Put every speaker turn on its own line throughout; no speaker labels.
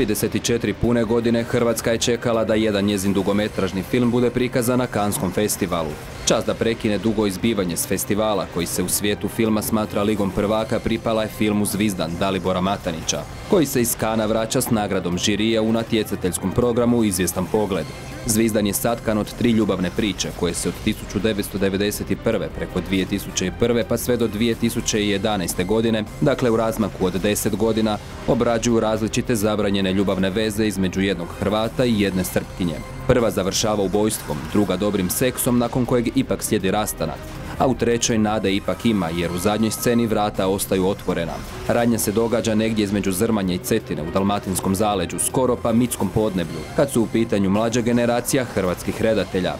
34 pune godine Hrvatska je čekala da jedan njezin dugometražni film bude prikazan na Canneskom festivalu. Čast da prekine dugo izbivanje s festivala, koji se u svijetu filma smatra ligom prvaka, pripala je filmu Zvizdan Dalibora Matanića, koji se iz Kana vraća s nagradom žirija u natjecateljskom programu Izvjestan pogled. Zvizdan je satkan od 3 ljubavne priče, koje se od 1991. preko 2001. pa sve do 2011. godine, dakle u razmaku od 10 godina, obrađuju različite zabranjene ljubavne veze između jednog Hrvata i jedne Srpkinje. Prva završava ubojstvom, druga dobrim seksom, nakon kojeg ipak slijedi rastanak, a u trećoj nade ipak ima, jer u zadnjoj sceni vrata ostaju otvorena. Radnja se događa negdje između Zrmanje i Cetine u dalmatinskom zaleđu, skoro pa mitskom podneblju, kad su u pitanju mlađa generacija hrvatskih redatelja.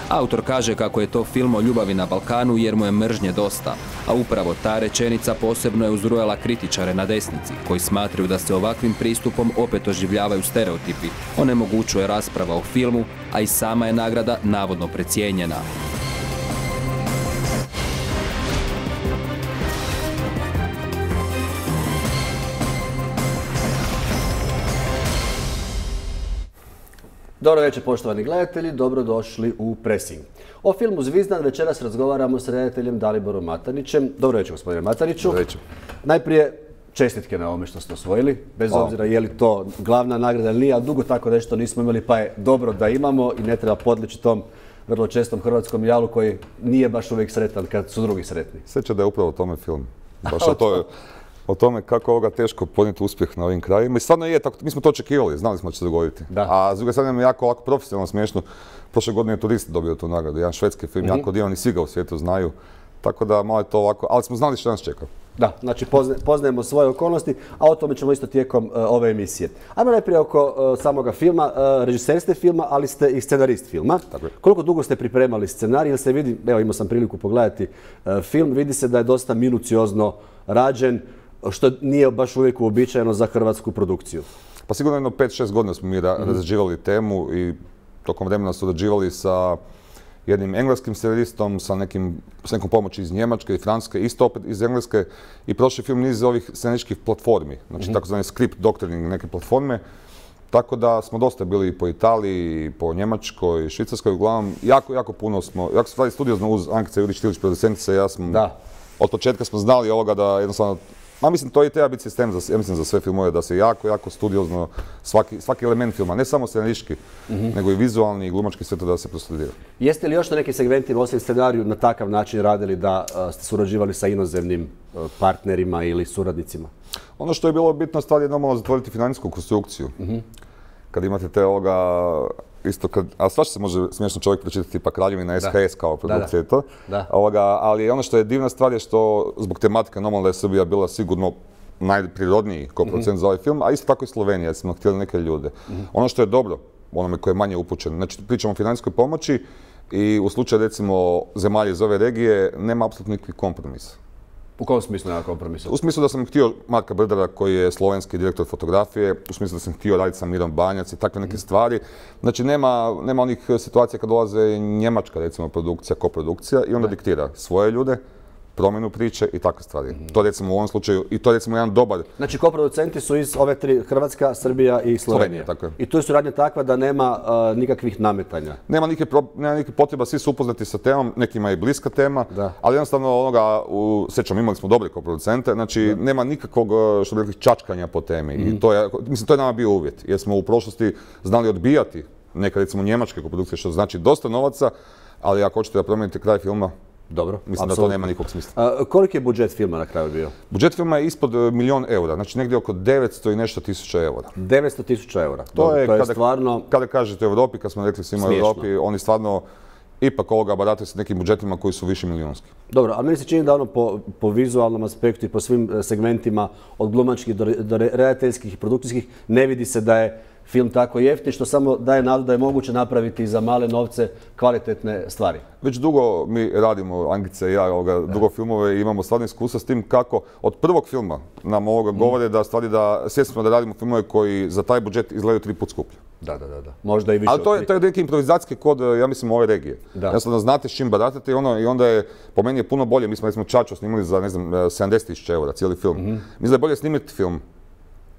Autor kaže kako je to film o ljubavi na Balkanu jer mu je mržnje dosta, a upravo ta rečenica posebno je uzrujala kritičare na desnici, koji smatraju da se ovakvim pristupom opet oživljavaju stereotipi, onemogućuje rasprava o filmu, a i sama je nagrada navodno precijenjena.
Dobro večer, poštovani gledatelji, dobrodošli u Pressing. O filmu Zvizdan večeras razgovaramo s redateljem Daliborom Matanićem. Dobro večer, gospodine Mataniću.
Dobro večer.
Najprije čestitke na ovome što ste osvojili, bez obzira je li to glavna nagrada ili nije, a dugo tako nešto nismo imali, pa je dobro da imamo i ne treba podleći tom vrlo čestom hrvatskom jalu koji nije baš uvijek sretan kad su drugi sretni.
Sjeća da je upravo o tome film. Baš o tome kako ovoga teško podnijeti uspjeh na ovim krajima. I stvarno je, mi smo to očekivali, znali smo da će se dogoditi.
Da.
A s druge strane je jako ovako profesionalno smiješno. Prošle godine je Turist dobio tu nagradu, jedan švedski film, jako divan i svi ga u svijetu znaju. Tako da malo je to ovako, ali smo znali što nas čeka.
Da, znači poznajemo svoje okolnosti, a o tome ćemo isto tijekom ove emisije. Ajmo najprije oko samoga filma. Režiser ste filma, ali ste i scenarist filma.
Tako je.
Koliko dugo ste pripremali scenarij? Jer se vidi, evo imao sam priliku pogledati film, vidi se da je dosta minuciozno rađen, što nije baš uvijek uobičajeno za hrvatsku produkciju.
Pa sigurno jedno 5-6 godina smo mi razrađivali temu i tokom vremena surađivali sa jednim engleskim scenaristom, sa nekom pomoći iz Njemačke i Francuske, isto opet iz Engleske, i prošli film niz ovih scenarističkih platformi, znači takozvani script doctoring neke platforme. Tako da smo dosta bili po Italiji, po Njemačkoj, Švicarskoj, uglavnom jako puno smo, jako smo studiozno uz Ankica Jurić-Tilić, producentica, ja sam, od početka smo znali ovoga da jednostavno, mislim to i treba biti sistem za sve filmove, da se jako studiozno svaki element filma, ne samo scenaristički, nego i vizualni i glumački, sve to da se prostudira.
Jeste li još na nekim segmentima, osim scenariju, na takav način radili da ste surađivali sa inozemnim partnerima ili suradnicima?
Ono što je bilo bitno stvar je normalno zatvoriti financijsku konstrukciju. Kad imate te isto a svašta se može smiješno čovjek pročitati, tipa Kraljevina SHS kao produkcija i to. Ali ono što je divna stvar je što zbog tematike normalno da je Srbija bila sigurno najprirodniji koproducent za ovaj film, a isto tako i Slovenija, jer smo htjeli neke ljude. Ono što je dobro, onome koji je manje upućen, znači pričamo o financijskoj pomoći i u slučaju recimo zemalja iz ove regije nema apsolutno nikakvih kompromisa.
U kom smislu nema kompromisa?
U smislu da sam htio Marka Brdara, koji je slovenski direktor fotografije, u smislu da sam htio raditi sa Mirom Banjac i takve neke stvari. Znači nema onih situacija kad dolaze njemačka recimo produkcija, koprodukcija i onda diktira svoje ljude, promjenu priče i takve stvari. To recimo u ovom slučaju, i to je recimo jedan dobar... Znači
koproducenti su iz ove tri, Hrvatska, Srbija i Slovenija.
Tako je.
I tu je suradnja takva da nema nikakvih nametanja.
Nema nikakve potreba, svi su upoznati sa temom, nekima je bliska tema, ali jednostavno sjećam, imali smo dobre koproducente, znači nema nikakvog, što bi rekli, čačkanja po temi. I to je nama bio uvjet, jer smo u prošlosti znali odbijati neke recimo njemačke koprodukcije, što znači dosta novaca, ali ako hoćete da promijenite kraj filma,
dobro,
mislim da to nema nikog smisla.
Koliki je budžet filma na kraju bio?
Budžet filma je ispod 1.000.000 eura, znači negdje oko 900 i nešto tisuća eura.
900.000 eura?
To je stvarno... Kada kažete u Europi, kad smo rekli svima u Europi, oni stvarno ipak barataju sa nekim budžetima koji su više milijunski.
Dobro, ali meni se čini da po vizualnom aspektu i po svim segmentima, od glumačkih do redateljskih i produkcijskih, ne vidi se da je film tako jeftin, što samo daje nadu da je moguće napraviti za male novce kvalitetne stvari.
Već dugo mi radimo, Ankica i ja, dugo filmove i imamo stvarno iskustva s tim kako od prvog filma nam govore da svjesni smo da radimo filmove koji za taj budžet izgledaju 3 puta skuplje.
Da. Možda i više.
Ali to je neki improvizacijski kod, ja mislim, ove regije. Jednostavno znate s čim baratate i onda je, po meni je puno bolje, mi smo recimo Čačo snimali za, ne znam, 70.000 eura cijeli film. Mislim da je bolje snimiti film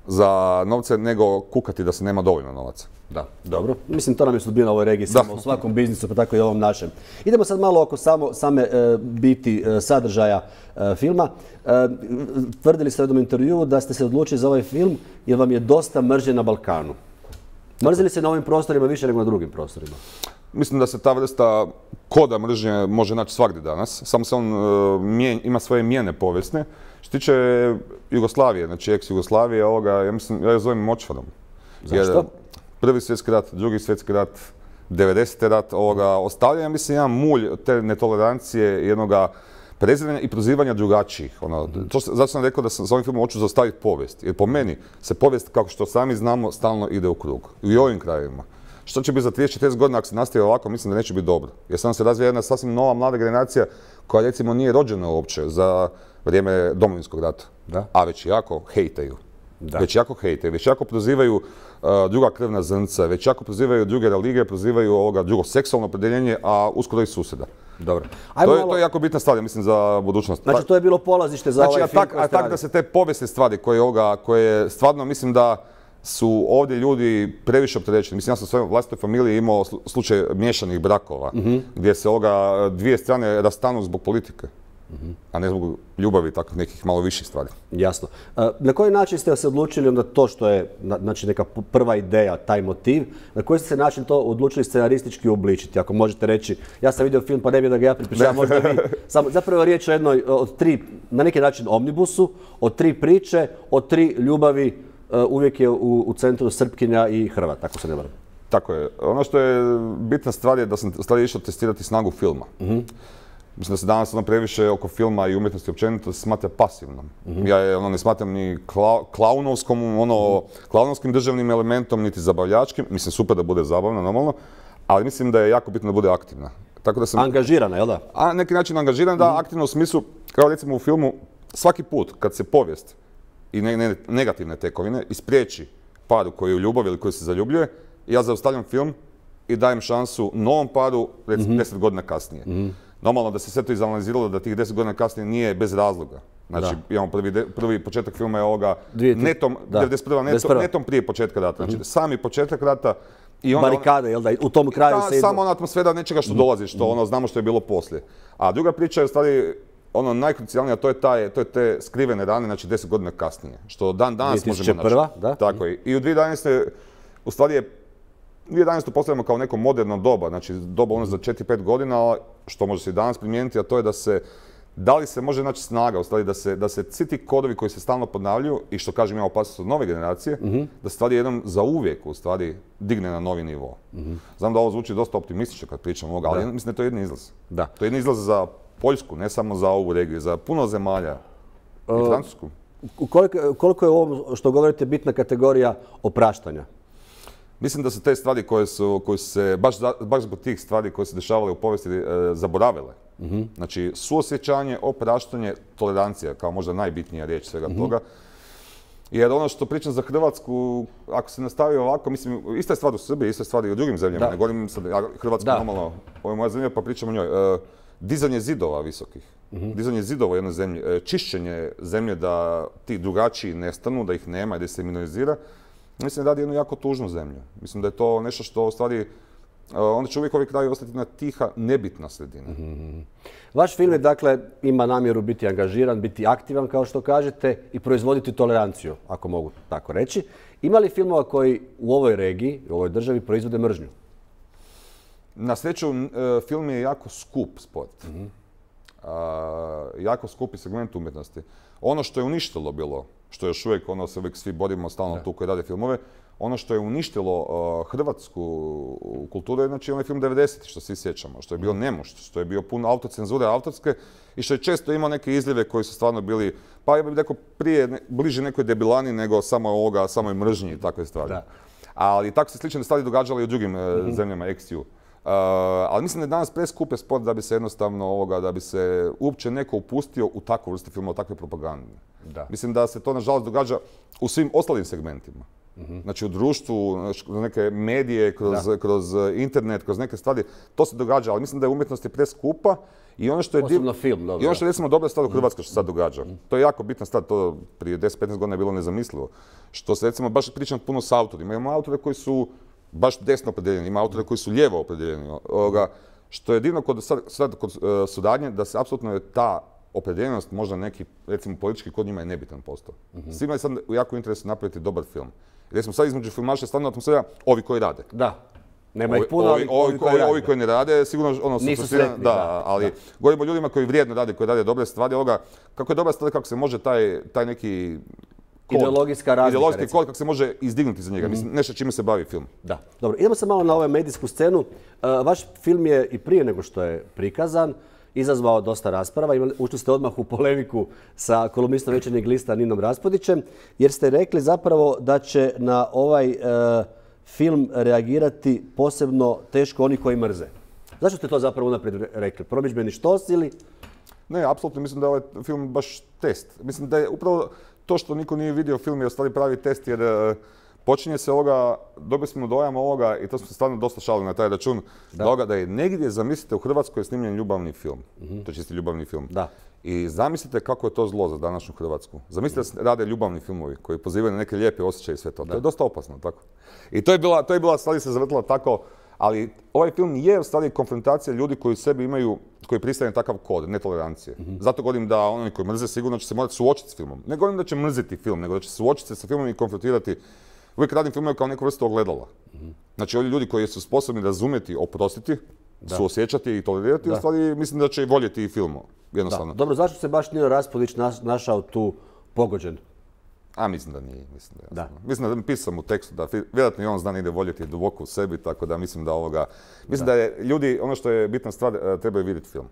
za novce nego kukati da se nema dovoljno novaca.
Da, dobro. Mislim, to nam je sudbina u ovoj regiji, samo u svakom biznisu, pa tako i ovom našem. Idemo sad malo oko same biti sadržaja filma. Tvrdili ste u jednom intervjuu da ste se odlučili za ovaj film jer vam je dosta mržnje na Balkanu. Mrzili se na ovim prostorima više nego na drugim prostorima?
Mislim da se ta vrsta koda mržnje može naći svagdje danas, samo se on ima svoje mijene povijesne. Što se tiče Jugoslavije, znači ex-Jugoslavije, ja je zovem močvarom.
Zašto?
Prvi svjetski rat, drugi svjetski rat, 90. rat, ostavlja, mislim, jedan mulj te netolerancije, jednoga preziranja i prozivanja drugačijih. Zato sam rekao da sam s ovim filmom hoću zaustaviti povijest. Jer po meni se povijest, kako što sami znamo, stalno ide u krug. I u ovim krajevima. Što će biti za 30-40 godina ako se nastavi ovako, mislim da neće biti dobro. Jer sam se razvija jedna sasvim nova mlada generacija koja recimo nije rođena uopće za vrijeme Domovinskog rata. A već jako hejtaju. Već jako prozivaju druga krvna zrnca, već jako prozivaju druge religije, prozivaju drugo seksualno opredjeljenje, a uskoro i susjeda.
Dobro.
To je jako bitna stvar, mislim, za budućnost.
Znači, to je bilo polazište za ovaj film koji ste
tako da se te povijesne stvari koje stvarno mislim da su ovdje ljudi previše opterećeni. Mislim, ja sam u svojoj vlastitoj familiji imao slučaj miješanih brakova, gdje se dvije strane rastanu zbog politike, a ne zbog ljubavi i takvih nekih malo viših stvari.
Jasno. Na koji način ste se odlučili onda to što je znači, neka prva ideja, taj motiv, na koji ste se način to odlučili scenaristički obličiti? Ako možete reći, ja sam vidio film pa ne bi da ga ja pripričavam, možda vi. Zapravo je riječ o jednoj od tri, na neki način omnibusu, od tri priče, od tri ljubavi, uvijek je u centru Srpkinja i Hrvat, tako se ne varam.
Tako je. Ono što je bitna stvar je da sam stvari išao testirati snagu filma. Mislim da se danas previše oko filma i umjetnosti općenito se smatra pasivnom. Ja je ne smatram ni klaunovskim državnim elementom, niti zabavljačkim. Mislim, super da bude zabavna, normalno, ali mislim da je jako bitno da bude aktivna. Tako da sam...
Angažirana, jel da?
A neki način angažirana, da, aktivno u smislu, kao recimo u filmu, svaki put kad se povijest i negativne tekovine ispriječi paru koji je u ljubavi ili koji se zaljubljuje, ja zaustavljam film i dajem šansu novom paru, recimo 10 godina kasnije. Normalno da se sve to izanaliziralo da tih 10 godina kasnije nije bez razloga. Znači, imamo prvi početak filma je netom, 91. netom prije početka rata. Znači, sami početak rata i onda...
Barikade, jel da? U tom kraju se...
Samo ona atmosfera nečega što dolazi, što znamo što je bilo poslije. A druga priča je u stvari najkrucijalnija, a to je te skrivene rane, znači 10 godina kasnije. Što dan danas možemo naći.
2001. da?
Tako je. I u 2011. u stvari je 2011. postavljamo kao neko moderno doba, znači doba za 4-5 godina, što može se i danas primijeniti, a to je da li se može naći snaga, u stvari da se svi ti kodovi koji se stalno ponavljaju i što kažem ima opasnost od nove generacije, da stvari jednom zauvijek u stvari digne na novi nivo. Znam da ovo zvuči dosta optimistično kad pričam ovoga, ali mislim da je to jedini izlaz. To je jedini izlaz za Poljsku, ne samo za ovu regiju, za puno zemalja i Francusku.
Koliko je ovo što govorite bitna kategorija opraštanja?
Mislim da su te stvari koje su se, baš zbog tih stvari koje se dešavale u povijesti, zaboravile. Znači, suosjećanje, opraštanje, tolerancija, kao možda najbitnija riječ svega toga. Jer ono što pričam za Hrvatsku, ako se nastavi ovako, mislim, ista je stvar u Srbiji, ista je stvar i u drugim zemljama. Ne govorim sad, Hrvatska normalno, ovo je moja zemlja pa pričam o njoj. Dizanje zidova visokih, dizanje zidova u jednoj zemlji, čišćenje zemlje da ti drugačiji nestanu, da ih nema i da se minorizira. Mislim da radi jednu jako tužnu zemlju. Mislim da je to nešto što u stvari, onda će uvijek ovi kraji ostati jedna tiha, nebitna sredina.
Vaš film je, dakle, ima namjeru biti angažiran, biti aktivan, kao što kažete, i proizvoditi toleranciju, ako mogu tako reći. Ima li filmova koji u ovoj regiji, u ovoj državi, proizvode mržnju?
Na sreću, film je jako skup sport. Jako skupi segment umjetnosti. Ono što je uništilo bilo, što još uvijek se uvijek svi borimo stalno tu koji rade filmove, ono što je uništilo hrvatsku kulturu je znači onaj film 90. što svi sjećamo, što je bio nemušt, što je bio pun autocenzure autorske i što je često imao neke izljeve koji su stvarno bili, pa ja bih rekao bliže nekoj debilani nego samoj mržnji i takve stvari. Ali tako se slične stvari događale i u drugim zemljama ex-EU. Ali mislim da je danas preskup sport da bi se jednostavno da bi se uopće neko upustio u takvu vrstu filma, u takve propagande. Mislim da se to nažalost događa u svim ostalim segmentima. Znači u društvu, kroz neke medije, kroz internet, kroz neke stvari, to se događa, ali mislim da je umjetnost je preskupa i ono što je
posebno film, dobro.
I ono što je recimo dobra stvar u Hrvatskoj što se sad događa. To je jako bitna stvar, to prije 10-15 godina je bilo nezamislivo. Što se recimo baš pričam puno s autorima. Imamo autore koji su baš desno opredeljeni, ima autore koji su lijevo opredeljeni. Što je divno kod suradnje, da se apsolutno je ta opredeljenost, možda neki, recimo politički kod njima je nebitan postao. Svima je sad u jako interesu napraviti dobar film. Recimo sad između filmaša je stvarno atmosfera ovi koji rade.
Da. Nema ih puno, ali
ovi koji ne rade, sigurno
nisu sretni.
Da, ali govorimo o ljudima koji vrijedno rade, koji rade dobre stvari. Kako je dobra stvar, kako se može taj neki
ideologijska razlika,
kod, kako se može izdignuti za njega. Mislim, nešto čime se bavi film.
Da. Dobro, idemo se malo na ovu medijsku scenu. Vaš film je i prije nego što je prikazan izazvao dosta rasprava. Ušli ste odmah u polemiku sa kolumnistom Večernjeg lista Ninom Raspodićem, jer ste rekli zapravo da će na ovaj film reagirati posebno teško oni koji mrze. Zašto ste to zapravo unaprijed rekli? Promidžbeni štos ili?
Ne, apsolutno mislim da je ovaj film baš test. Mislim da je upravo to što niko nije vidio film je u stvari pravi test, jer počinje se dobili smo dojam ovoga, i to smo se stvarno dosta šalili na taj račun, da je negdje, zamislite, u Hrvatskoj je snimljen ljubavni film. To je čisti ljubavni film.
Da.
I zamislite kako je to zlo za današnju Hrvatsku. Zamislite da se rade ljubavni filmovi koji pozivaju na neke lijepe osjećaje i sve to. To je dosta opasno, tako. I to je bila stvari se zavrtila tako, ali ovaj film je u stvari konfrontacija ljudi koji u sebi imaju, koji pristaju na takav kod, netolerancije. Zato govorim da oni koji mrze sigurno će se morati suočiti s filmom. Ne govorim da će mrziti film, nego da će suočiti se sa filmom i konfrontirati. Uvijek radim filmove kao neku vrstu ogledala. Znači, ovi ljudi koji su sposobni razumjeti, oprostiti, suosjećati i tolerirati, u stvari mislim da će i voljeti i film, jednostavno.
Dobro, zašto se baš Nino Raspudić našao tu pogođen?
Mislim da nije. Mislim da pisao sam u tekstu da vjerojatno i on zna negdje voljeti duboko u sebi, tako da mislim da mislim da je ljudi, ono što je bitna stvar, trebaju vidjeti film.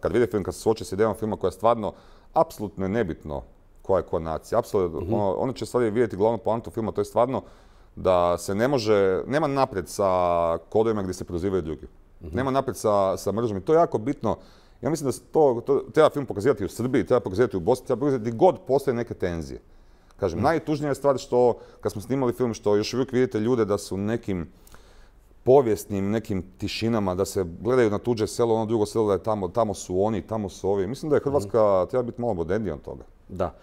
Kad vide film, kad se suoče s idejom filma koja je stvarno apsolutno nebitno koja je koja nacija. Apsolutno, oni će stvari vidjeti glavnu poantu filma, to je stvarno da se nema naprijed sa kodovima gdje se prozivaju drugi. Nema naprijed sa mržnjom. To je jako bitno. Ja mislim da to treba film pokazivati u Srbiji, treba pokazivati u Bosni, treba pokazivati gdje god postoje neke tenzije. Kažem, najtužnija je stvar što, kad smo snimali film, što još uvijek vidite ljude da su nekim povijesnim, nekim tišinama, da se gledaju na tuđe selo, ono drugo selo da je tamo su oni, tamo su ovi. Mislim da je Hrvatska treba biti malo modernija od toga.
Da.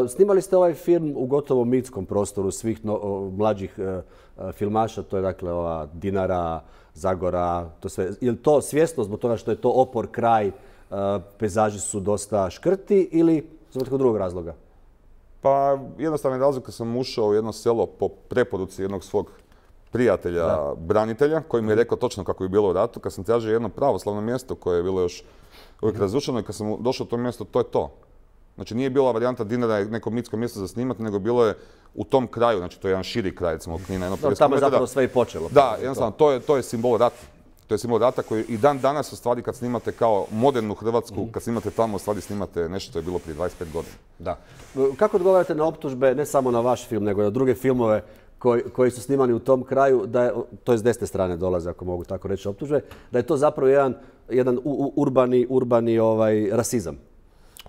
Snimali ste ovaj film u gotovo mitskom prostoru svih mlađih filmaša, to je dakle ova Dinara, Zagora, to sve. Je li to svjesno zbog toga što je to opor kraj, pejzaži su dosta škrti ili zbog nekog drugog razloga?
Pa jednostavno razlog kad sam ušao u jedno selo po preporuci jednog svog prijatelja, branitelja, koji mi je rekao točno kako je bilo u ratu, kad sam tražio jedno pravoslavno mjesto koje je bilo još uvijek razrušeno i kad sam došao u to mjesto, to je to. Znači nije bila varijanta Dinara neko mitsko mjesto za snimati, nego bilo je u tom kraju, znači to je jedan širi kraj, recimo Knina, jedno 50 km.
Tamo je zapravo sve i počelo.
Da, jednostavno, to je simbol rata. To je simbol rata koji i dan danas u stvari kad snimate kao modernu Hrvatsku, kad snimate tamo u stvari snimate nešto što je bilo prije 25 godina.
Da. Kako odgovarate na optužbe, ne samo na vaš film, nego i na druge filmove koji su snimani u tom kraju, to je s desne strane dolaze, ako mogu tako reći, optužbe, da je to zapravo jedan urbani rasizam?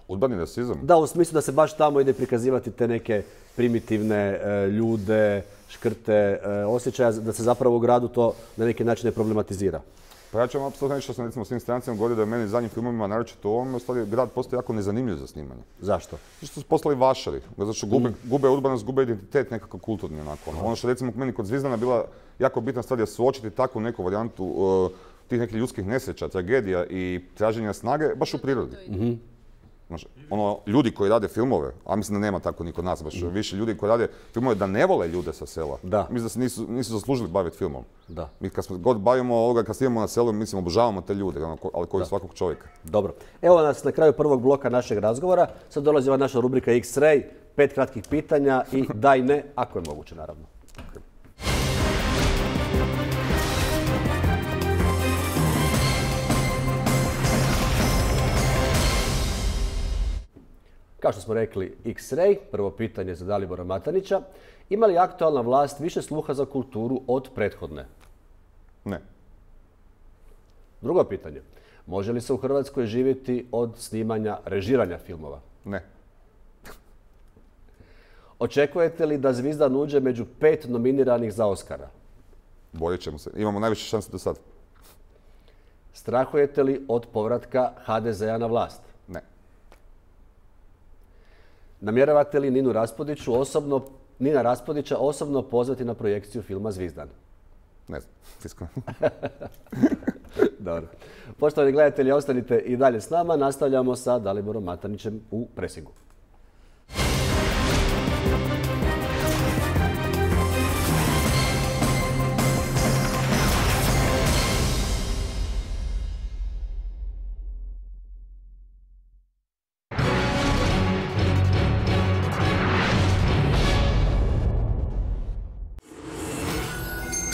Urbani rasizam?
Da, u smislu da se baš tamo ide prikazivati te neke primitivne ljude, škrte, osjećaja, da se zapravo u gradu to na neki način ne problematizira.
Pa ja ću vam apsolutno reći što sam recimo s tim strancima govorio da je meni zadnjim filmovima, naročito u ovome, u stvari grad postoji jako nezanimljiv za snimanje.
Zašto?
Zato što su postali vašari, zato što gube urbanost, gube identitet nekako kulturni onako. Ono što recimo meni kod Zvizdana bila jako bitna stvar je suočiti takvu neku varijantu tih nekih ljudskih nesreća, tragedija i traženja snage baš u prirodi. Ljudi koji rade filmove, a mislim da nema tako ni kod nas, baš više ljudi koji rade filmove da ne vole ljude sa sela. Mislim da se nisu zaslužili baviti filmom. Mi kad smo god bavimo ovoga, kad snimamo na selu, mislim obožavamo te ljude, ali koji svakog čovjeka.
Dobro. Evo nas na kraju prvog bloka našeg razgovora. Sad dolazi ova naša rubrika X-Ray, 5 kratkih pitanja i da i ne, ako je moguće naravno. Kao što smo rekli, X-Ray, prvo pitanje za Dalibora Matanića. Ima li aktualna vlast više sluha za kulturu od prethodne?
Ne.
Drugo pitanje. Može li se u Hrvatskoj živjeti od snimanja, režiranja filmova?
Ne.
Očekujete li da Zvizdan uđe među 5 nominiranih za Oscara?
Borit ćemo se. Imamo najviše šanse do sad.
Strahujete li od povratka HDZ-a na vlast?
Ne.
Namjeravate li Nina Raspodića osobno pozvati na projekciju filma Zvizdan?
Ne znam, iskreno.
Dobro. Poštovani gledatelji, ostanite i dalje s nama. Nastavljamo sa Daliborom Matanićem u presingu.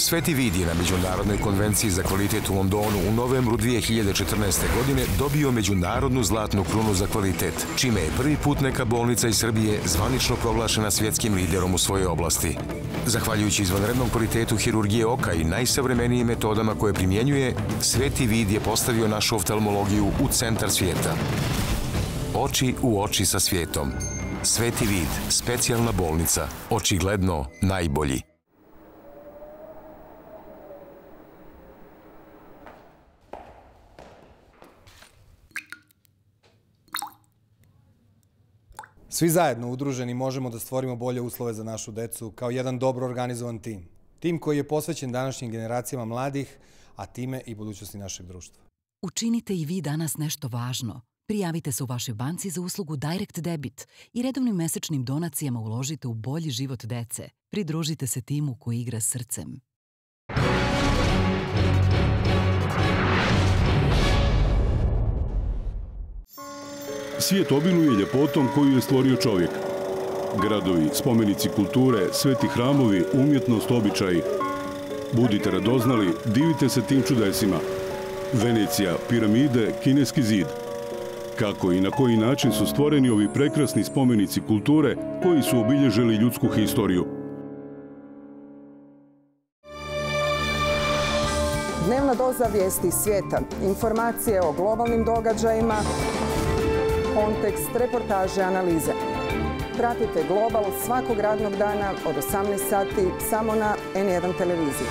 Sveti Vid je na Međunarodnoj konvenciji za kvalitet u Londonu u novembru 2014. godine dobio međunarodnu zlatnu krunu za kvalitet, čime je prvi put neka bolnica iz Srbije zvanično proglašena svjetskim liderom u svojoj oblasti. Zahvaljujući izvanrednom kvalitetu hirurgije oka i najsavremenijim metodama koje primjenjuje, Sveti Vid je postavio našu oftalmologiju u centar svijeta. Oči u oči sa svijetom. Sveti Vid, specijalna bolnica, očigledno najbolji.
Svi zajedno udruženi možemo da stvorimo bolje uslove za našu decu kao jedan dobro organizovan tim. Tim koji je posvećen današnjim generacijama mladih, a time i budućnosti našeg društva.
Učinite i vi danas nešto važno. Prijavite se u vašoj banci za uslugu Direct Debit i redovnim mesečnim donacijama uložite u bolji život dece. Pridružite se timu koji igra srcem.
Svijet obiluje ljepotom koju je stvorio čovjek. Gradovi, spomenici kulture, sveti hramovi, umjetnost, običaji. Budite radoznali, divite se tim čudesima. Venecija, piramide, kineski zid. Kako i na koji način su stvoreni ovi prekrasni spomenici kulture koji su obilježili ljudsku historiju.
Dnevna doza vijesti svijeta, informacije o globalnim događajima, kontekst, reportaže, analize. Pratite Global svakog radnog dana od 18 sati samo na N1 televiziji.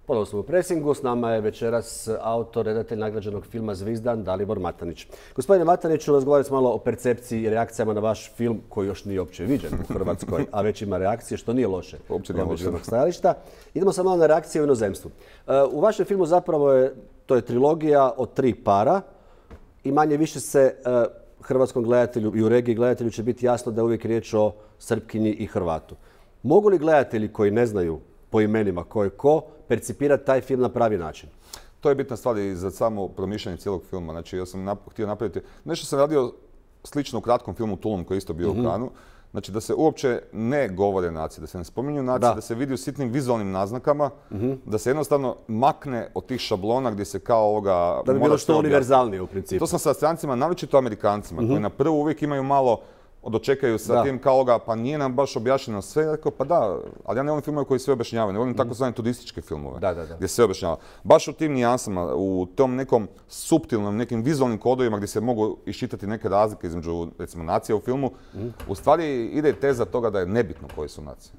Ponovno smo u presingu, s nama je večeras autor, redatelj nagrađenog filma Zvizdan, Dalibor Matanić. Gospodine Mataniću, razgovarali smo malo o percepciji i reakcijama na vaš film koji još nije uopće viđen u Hrvatskoj, a već ima reakcije, što nije loše.
Uopće nije loše.
Stajališta. Idemo sad malo na reakcije u inozemstvu. U vašem filmu zapravo to je trilogija od 3 para i manje više se hrvatskom gledatelju i u regiji gledatelju će biti jasno da je uvijek riječ o Srpkinji i Hrvatu. Mogu li gledatelji koji ne znaju po imenima ko je ko percipirati taj film na pravi način?
To je bitna stvar i za samo promišljanje cijelog filma. Znači, ja sam htio napraviti... Nešto sam radio slično u kratkom filmu Tulum koji je isto bio u Kanu. Znači, da se uopće ne govore nacije, da se ne spominju nacije, da se vidi u sitnim vizualnim naznakama, da se jednostavno makne od tih šablona gdje se kao ovoga...
Da bi bilo što univerzalnije u principu.
To sam sa strancima, naročito Amerikancima, koji na prvu uvijek imaju malo dočekaju sa tim kao ovoga, pa nije nam baš objašnjeno sve. Ja rekao, pa da, ali ja ne volim filmove koji sve objašnjavaju, ne volim takozvane turističke filmove gdje sve objašnjava. Baš u tim nijansama, u tom nekom suptilnom, nekim vizualnim kodovima gdje se mogu iščitati neke razlike između, recimo, nacija u filmu, u stvari ide teza toga da je nebitno koje su nacije.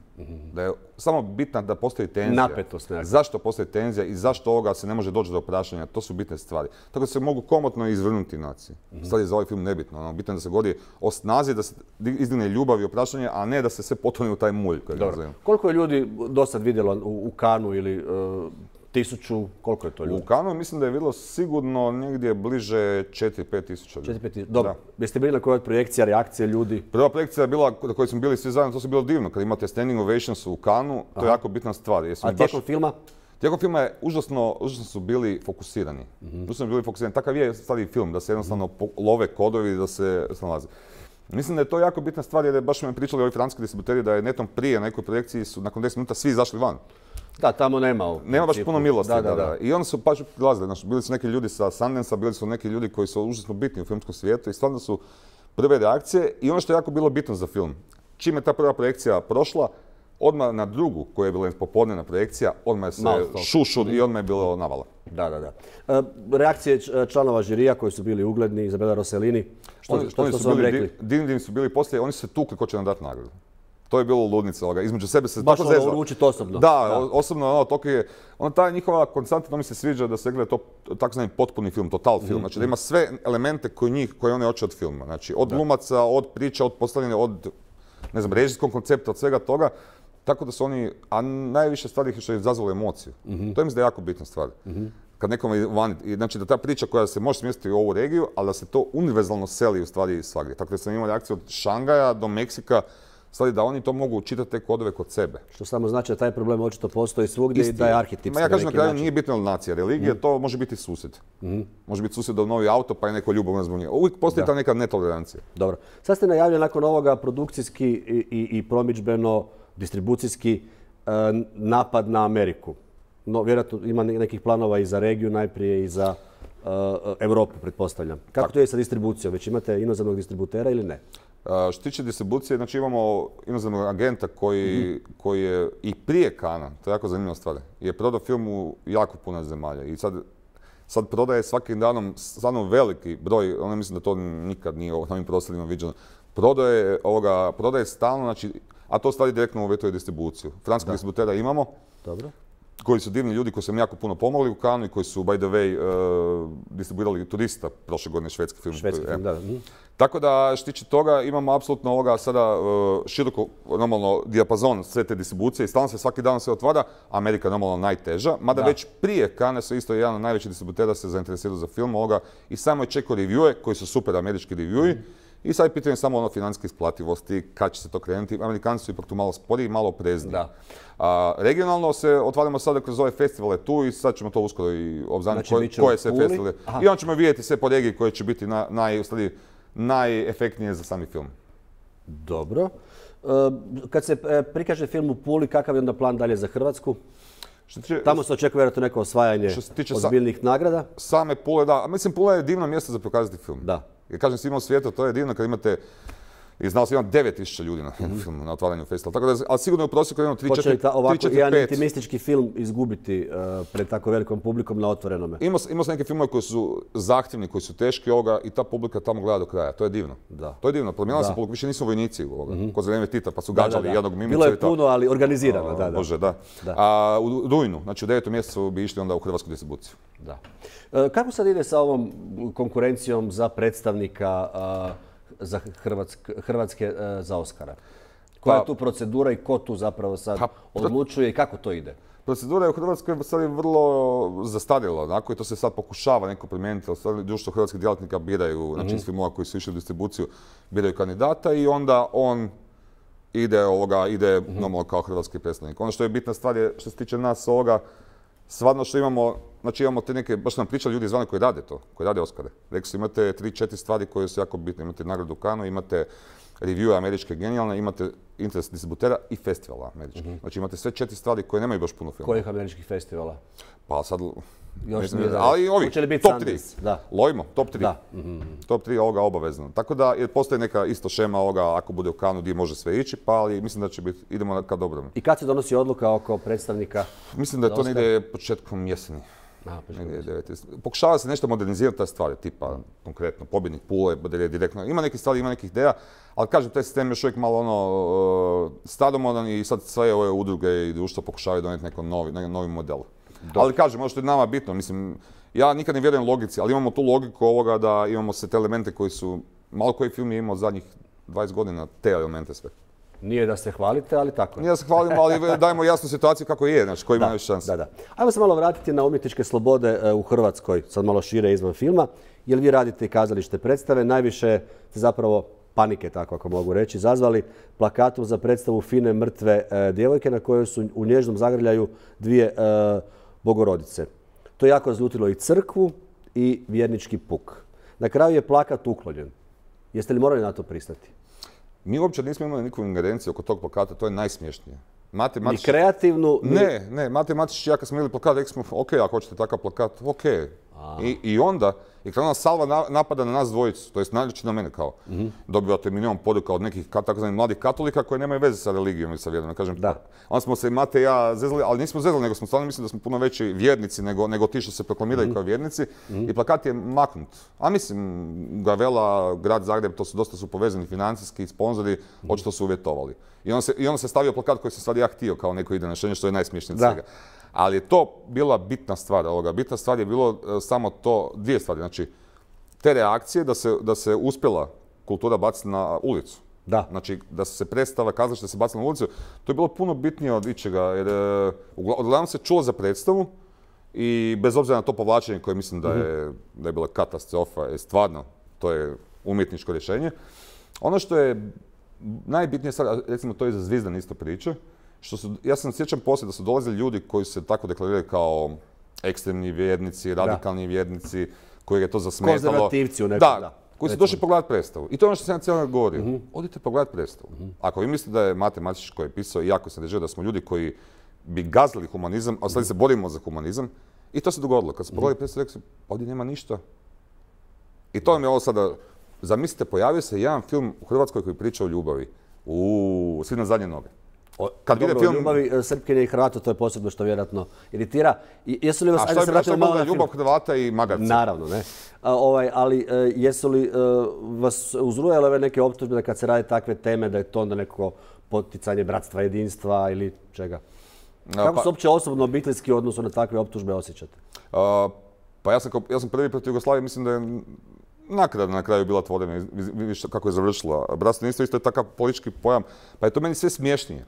Da je samo bitna da postoji tenzija.
Napetost nekako.
Zašto postoji tenzija i zašto ovoga se ne može doći do opraštanja, to su bitne stvari. Tako da se mogu komotno izvrnuti nacije. Stvari je za ovaj film nebitno. Bitno je da se govori o snazi, da se izdigne ljubav i opraštanje, a ne da se sve potone u taj mulj.
Koliko je ljudi do sad vidjelo u Kanu ili 1000, koliko je to ljudi?
U Kanu mislim da je vidjelo sigurno negdje bliže 4-5 tisuća ljudi.
4-5 tisuća, dobro. Jeste bili na kojoj projekcija, reakcije ljudi?
Prva projekcija je bila na kojoj smo bili svi zajedno, to su bilo divno. Kad imate standing ovations u Kanu, to je jako bitna stvar.
A tijekom filma?
Tijekom filma je užasno su bili fokusirani. Takav je stari film, da se jednostavno love kodovi, da se snalaze. Mislim da je to jako bitna stvar jer baš me pričali ovi francuski distributeri da je netom prije na nekoj projekciji su nakon 10 minuta svi izašli van.
Da, tamo nema.
Nema baš puno milosti. I onda su baš prilazili. Bili su neki ljudi sa Sundance-a, bili su neki ljudi koji su užasno bitni u filmskom svijetu i stvarno su prve reakcije. I ono što je jako bilo bitno za film, čim je ta prva projekcija prošla, odmah na drugu, koja je bila popodnevna projekcija, odmah je se šušur i odmah je bilo navala.
Da. Reakcije članova žirija koji su bili ugledni, Izabela Rossellini, što su vam rekli?
Divni su bili poslije, oni su se tukli ko će nam dati nagradu. To je bilo ludnica, između sebe se
baš
tako zezalo.
Baš uručiti osobno.
Da, osobno, toliko je, ta njihova konstanta, mi se sviđa da se gleda to takozvani potpuni film, total film, znači da ima sve elemente koje oni hoće od filma, znači od glumaca, od priča, od postavljanja, od, ne znam, režijskog koncepta, od svega toga, tako da su oni, a najviše stvari što je izazvalo emociju. To je mislim da je jako bitna stvar. Kad nekome vani, znači da ta priča koja se može smjestiti u ovu regiju, ali da se to univerzalno seli u stvari svagdje. Tako da sam imao reakciju od Šangaja do Meksika, stvari da oni to mogu čitati te kodove kod sebe.
Što samo znači da taj problem očito postoji svugdje i da je arhetipski.
Ja kažem na kraju nije bitna nacija, religija, to može biti susjed. Može biti susjed do novi auto pa je neko ljubavno zbog njega. Uvijek postoji ta neka netolerancija.
Dobro. Sad ste najavljeni nakon ovoga produkcijski i promidžbeno, distribucijski napad na Ameriku. No, vjerojatno ima nekih planova i za regiju najprije i za Europu, pretpostavljam. Kako to je sa distribucijom? Već imate inozemnog distributera ili ne?
Što se tiče distribucije, znači imamo inozemnog agenta koji je i prije Kana, to je jako zanimljiva stvar, je prodao film u jako puno zemalja i sad prodaje svakim danom stvarno veliki broj, ono mislim da to nikad nije na ovim prostorima viđeno, prodaje stalno, znači, a to stvari direktno uvjetuje distribuciju. Franskog distributera imamo. Dobro. Koji su divni ljudi koji su nam jako puno pomogli u Kanu i koji su, by the way, distribuirali Turista prošle godine, švedski film. Tako da, što tiče toga, imamo apsolutno sada široko, normalno, dijapazon sve te distribucije i stalno se svaki dan sve otvara. Amerika je normalno najteža, mada već prije Kane su isto jedan od najvećih distributera se zainteresirao za film i samo je čekao reviewe, koji su super američki reviewi. I sad je pitanje samo financijske isplativosti, kad će se to krenuti. Amerikanci su ipak tu malo sporiji, malo oprezniji. Regionalno se otvaramo sada kroz ove festivale tu i sad ćemo to uskoro i obznaniti koje sve festivale. I onda ćemo vidjeti sve po regiji koje će biti najefektnije za sami film.
Dobro. Kad se prikaže film u Puli, kakav je onda plan dalje za Hrvatsku? Tamo se očekuje vjerojatno neko osvajanje ozbiljnih nagrada.
Same Pule, da. Mislim, Pula je divno mjesto za pokazati film.
Da.
Jer kažem svima u svijetu, to je divno kad imate, i znao sam imam 9000 ljudi na filmu, na otvaranju festivala. Tako da, ali sigurno je u prosjeku imamo 3-4-5.
Hoće li ovako jedan intimistički film izgubiti pred tako velikom publikom na otvorenome?
Imao sam neke filmove koji su zahtjevni, koji su teški i ta publika tamo gleda do kraja. To je divno. To je divno. Promijenila se publika, više nisu vojnici kod za vrijeme Tita, pa su gađali jednog mimicu.
Bilo je puno, ali organizirano.
Bože, da. A u rujnu, znači u 9. mjesecu bi išli onda u hrvatsku distribuciju.
Da. Kako sad ide sa ovom konkurencijom za predstavnika za Hrvatske za Oscara? Koja je tu procedura i ko tu zapravo sad odlučuje i kako to ide?
Procedura je u Hrvatskoj sad vrlo zastarjela, onako, i to se sad pokušava neko promijeniti. Društvo hrvatskih djelatnika biraju, znači iz filmova koji su išli u distribuciju, biraju kandidata i onda on ide normalno kao hrvatski predstavnik. Ono što je bitna stvar je, što se tiče nas ovoga, stvarno što imamo, znači imamo te neke, baš nam pričali ljudi izvana koji rade to, koji rade Oscare. Rekli su imate 3-4 stvari koje su jako bitne. Imate nagradu Kanu, imate review američke genijalne, imate interes distributera i festivala američkih. Znači imate sve 4 stvari koje nemaju baš puno filma.
Kojih američkih festivala?
Pa sad,
ali ovi,
top 3. Lojimo, top 3. Top 3 ovoga obavezno. Tako da postoji neka isto šema ovoga ako bude u Kanu gdje može sve ići, pa ali mislim da će biti, idemo ka dobrom.
I kad se donosi odluka oko predstavnika?
Mislim da to ne ide početkom jeseni. Pokušava se nešto modernizirati ta stvari, tipa konkretno pobjednik Pule, direktno. Ima nekih stvari, ima nekih ideja, ali kažem, taj sistem je još uvijek malo staromodan i sad sve ove udruge i društvo pokušavaju donijeti neki novi model. Ali kažem, ono što je nama bitno, mislim, ja nikad ne vjerujem logici, ali imamo tu logiku ovoga da imamo sve te elemente koji su, malo koji film je imao zadnjih 20 godina, te elemente sve.
Nije da se hvalite, ali tako.
Nije da se hvalimo, ali dajemo jasnu situaciju kako je, znači koji ima još šanse.
Da. Ajmo se malo vratiti na umjetničke slobode u Hrvatskoj, sad malo šire izvan filma. Jer vi radite i kazalište predstave, najviše ste zapravo panike, tako ako mogu reći, izazvali plakatom za predstavu Fine mrtve djevojke na kojoj su u nježnom zagrljaju dvije bogorodice. To je jako razljutilo i crkvu i vjernički puk. Na kraju je plakat uklonjen. Jeste li morali na to pristati?
Mi uopće nismo imali nikakvu ingerenciju oko tog plakata, to je najsmiješnije.
Ni kreativnu?
Ne, matematički ja kad smo imali plakat, rekli smo, ok, ako hoćete takav plakat, ok. I onda je krenula salva napada na nas dvojicu, to jest najčešće na mene kao. Dobivate milion poruka od nekih takozvanih mladih katolika koji nemaju veze sa religijom i sa vjerom. Onda smo se Mate i ja zezali, ali nismo zezali, nego smo stvarno mislili da smo puno veći vjernici nego ti što se proklamiraju kao vjernici. I plakat je maknut. A mislim, Gavela, Grad Zagreb, to su dosta povezani financijski, sponzori, očito su uvjetovali. I onda se stavio plakat koji sam sad ja htio kao neko ide rješenje, što je najsmiješnije od svega. Ali je to bila bitna stvar ovoga. Bitna stvar je bilo samo to, dvije stvari. Znači, te reakcije da se uspjela kultura baciti na ulicu. Znači, da se predstava kazalište da se bacila na ulicu, to je bilo puno bitnije od ičega. Jer uglavnom se čulo za predstavu i bez obzira na to povlačenje koje mislim da je bila katastrofa, je stvarno, to je umjetničko rješenje. Ono što je najbitnije sad, recimo to je za Zvizdan isto priče, ja sam sjećam poslije da su dolazili ljudi koji se tako deklariraju kao ekstremni vjernici, radikalni vjernici, koji je to zasmetalo.
Konzervativci u nekom,
koji su došli pogledati predstavu. I to je ono što sam ja cijelo govorio. Odite pogledati predstavu. Ako vi mislite da je Mate Matičić koji je pisao i jako se držao da smo ljudi koji bi gazili humanizam, a sad se borimo za humanizam, i to se dogodilo. Kad su pogledali predstavu, rekli su, ovdje nema ništa. I to mi je ovo sada, zamislite, pojavio se jedan film u Hrvatskoj koji priča o ljubavi. Svi na zadnje noge.
Kad vide film ljubavi Srpkinje i Hrvata, to je posebno što vjerojatno iritira. Jesu li vas,
a što je bilo ljubav Hrvata i Magarca?
Naravno, ne. Ali jesu li vas uzrujale ove neke optužbe da kad se radi takve teme da je to onda neko poticanje bratstva, jedinstva ili čega? Kako se uopće osobno obiteljski odnosu na takve optužbe osjećate?
Pa ja sam prvi protiv Jugoslavije, mislim da je naknadno na kraju bila tvorena, vidiš kako je završila. Bratstvo jedinstvo isto je takav politički pojam, pa je to meni sve smiješnije.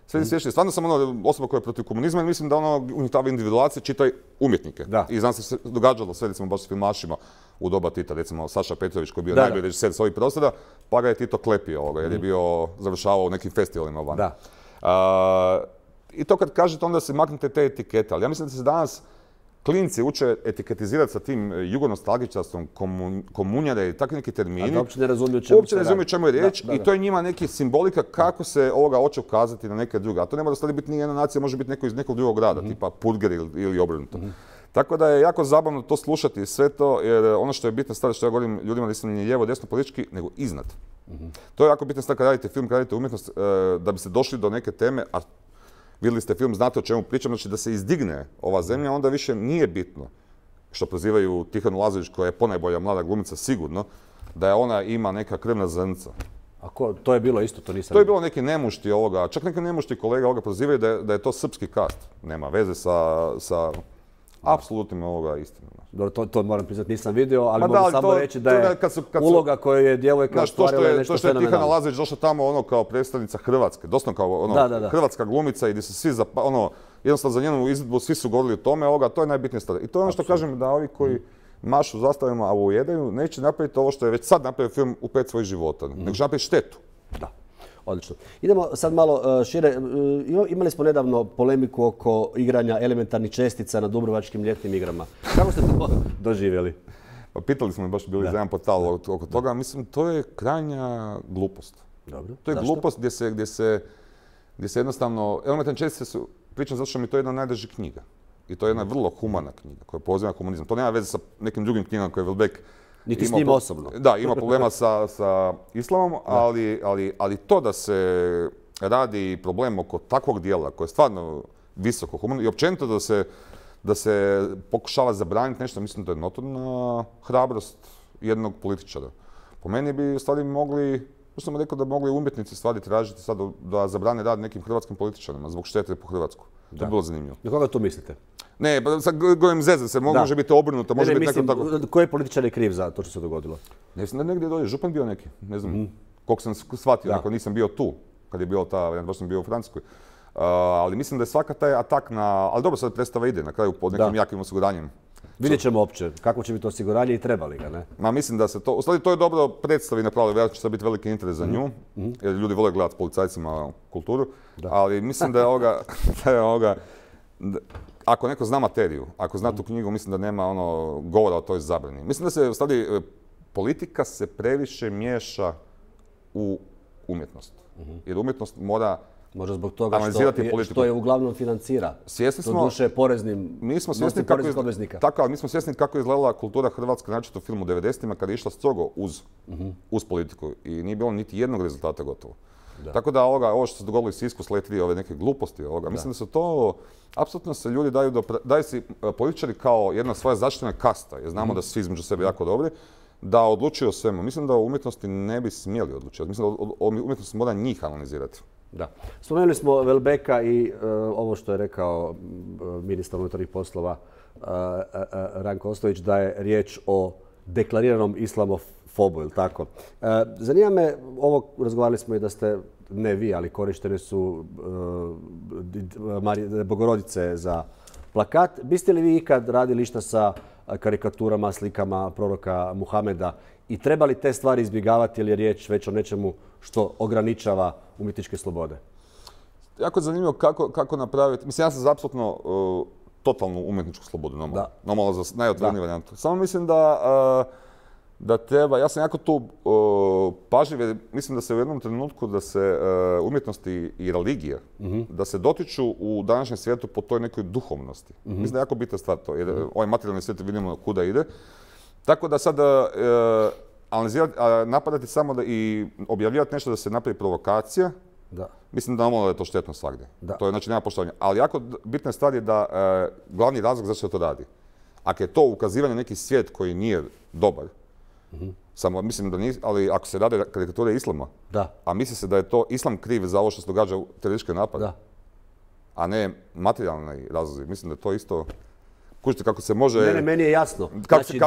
Sve smješnije. Stvarno sam osoba koja je protiv komunizma i mislim da unitava individualacije čitaj umjetnike. I znam se događalo sve, recimo baš s filmašima u doba Tita, recimo Saša Petrović koji je bio najbolji režiser s ovih prostora, pa ga je Tito klepio jer je bio završavao u nekim festivalima van. I to kad kažete onda se maknete te etikete, ali ja mislim da se danas klinci uče etiketizirati sa tim jugonostalgičarstvom, komunjare i takvi neki termini.
A da uopće ne razumiju
čemu je riječ i to je njima neki simbolika kako se ovoga hoće ukazati na neke druge. A to ne mora stvari biti ni jedna nacija, može biti neko iz nekog drugog grada, tipa Purger ili obrnuto. Tako da je jako zabavno to slušati sve to, jer ono što je bitna stvar, što ja govorim ljudima da nisam ni lijevo, desno politički, nego iznad. To je jako bitna stvar kad radite film, kad radite umjetnost, da bi se došli do neke teme, a vidjeli ste film, znate o čemu pričam, znači da se izdigne ova zemlja, onda više nije bitno, što prozivaju Tihanu Lazović, koja je ponajbolja mlada glumica sigurno, da ona ima neka krvna zrnca.
A to je bilo isto, to nisam...
To je bilo neki nemušti ovoga, čak neki nemušti kolega ovoga prozivaju da je to srpski kast. Nema veze sa apsolutnim ovoga istinom.
Dobro, to moram priznati, nisam vidio, ali mogu samo reći da je uloga koju je djevojka ostvarila nešto
fenomenalno. To što je Tihana Lazović došla tamo kao predstavnica Hrvatske, doslovno kao hrvatska glumica i gdje su svi, jednostavno za njenu izvedbu svi su govorili o tome, to je najbitnija stvar. I to je ono što kažem da ovi koji mašu zastavima, a ujedaju, neće napraviti ovo što je već sad napravio film u 5 svojih života, nego će napraviti štetu.
Da. Odlično. Idemo sad malo šire. Imali smo nedavno polemiku oko igranja elementarnih čestica na Dubrovačkim ljetnim igrama. Kako ste to doživjeli?
Pitali smo baš bili za jedan portal oko toga. Mislim, to je krajnja glupost.
Dobro.
To je glupost gdje se jednostavno... Elementarne čestice su, pričam zato što mi je to jedna od najdražih knjiga. I to je jedna vrlo humana knjiga koja poziva komunizam. To nema veze sa nekim drugim knjigama koje je Welbeck
niti s njim osobno.
Da, ima problema sa islamom, ali to da se radi problem oko takvog dijela koje je stvarno visoko humano i općenito da se pokušava zabraniti nešto, mislim da je notorna hrabrost jednog političara. Po meni bi u stvari mogli, što sam rekao da mogli umjetnici stvari tražiti sad da zabrane rad nekim hrvatskim političarima zbog štete po Hrvatsku. To je bilo zanimljivo.
Na koga to mislite?
Ne, sad govorim zezan se, može biti obrnuto, može biti neko tako...
Koji političar je kriv za to što se dogodilo?
Ne znam da negdje dođe, župan bio neki, ne znam koliko sam shvatio, ako nisam bio tu, kad je bila ta, baš sam bio u Francuskoj. Ali mislim da je svaka taj atak na... Ali dobro, sad predstava ide na kraju pod nekim jakim osiguranjem.
Vidjet ćemo opće kako će biti osiguranje i treba li ga, ne?
Ma mislim da se to... U stvari to je dobro predstavi napravili, vjerojatno će sad biti veliki interes za nju, jer ljudi vole gledati s policajcima kulturu, ali mislim da je ovoga... Ako neko zna materiju, ako zna tu knjigu, mislim da nema govora o toj zabrani. Mislim da se, u stvari, politika se previše miješa u umjetnost. Jer umjetnost mora
Možda zbog toga
analizirati politiku.
što je uglavnom financira.
Svjesni smo,
doduše poreznim,
mi smo svjesni kako
obveznika.
Tako, ali mi smo svjesni kako je izgledala kultura Hrvatske, znači u filmu 90-ima kada je išla strogo uz politiku i nije bilo niti jednog rezultata gotovo. Da. Tako da ovo što se dogodilo iz Sisku s Let 3, ove neke gluposti, mislim da se to, apsolutno se ljudi daju si političari kao jedna svoja zaštićena kasta, jer znamo da su svi između sebe jako dobri, da odlučuju o svemu. Mislim da u umjetnosti ne bi smjeli odlučivati. Mislim da umjetnost mora njih analizirati.
Da. Spomenuli smo Welbecka i ovo što je rekao ministar unutarnjih poslova Ranko Ostojić, da je riječ o deklariranom islamofobu, ili tako? Zanima me, razgovarali smo i da ste, ne vi, ali korištene su Bogorodice za plakat. Biste li vi ikad radili išta sa karikaturama, slikama proroka Muhameda i treba li te stvari izbjegavati ili je riječ već o nečemu što ograničava umjetničke slobode? Jako je zanimljivo kako napraviti. Mislim, ja sam za apsolutno totalnu umjetničku slobodu, normalno za najotvoreniju varijantu. Samo mislim da treba, ja sam jako tu pažljiv, jer mislim da se u jednom trenutku da se umjetnosti i religije, da se dotiču u današnjem svijetu po toj nekoj duhovnosti. Mislim da je jako bitna stvar to, jer ovaj materijalni svijet vidimo kuda ide. Tako da sad analizirati, napadati samo i objavljivati nešto da se napravi provokacija, mislim da normalno je to štetno svagdje. To je, znači, nema poštovanja. Ali jako bitna stvar je da glavni razlog zašto se to radi. Ako je to ukazivanje neki svijet koji nije dobar, samo mislim da nije, ali ako se rade karikature islama, a misli se da je to islam kriv za ovo što se događa u terorističke napade, a ne materijalni razlozi, mislim da je to isto. Kužite kako se može... Ne, meni je jasno. Znači,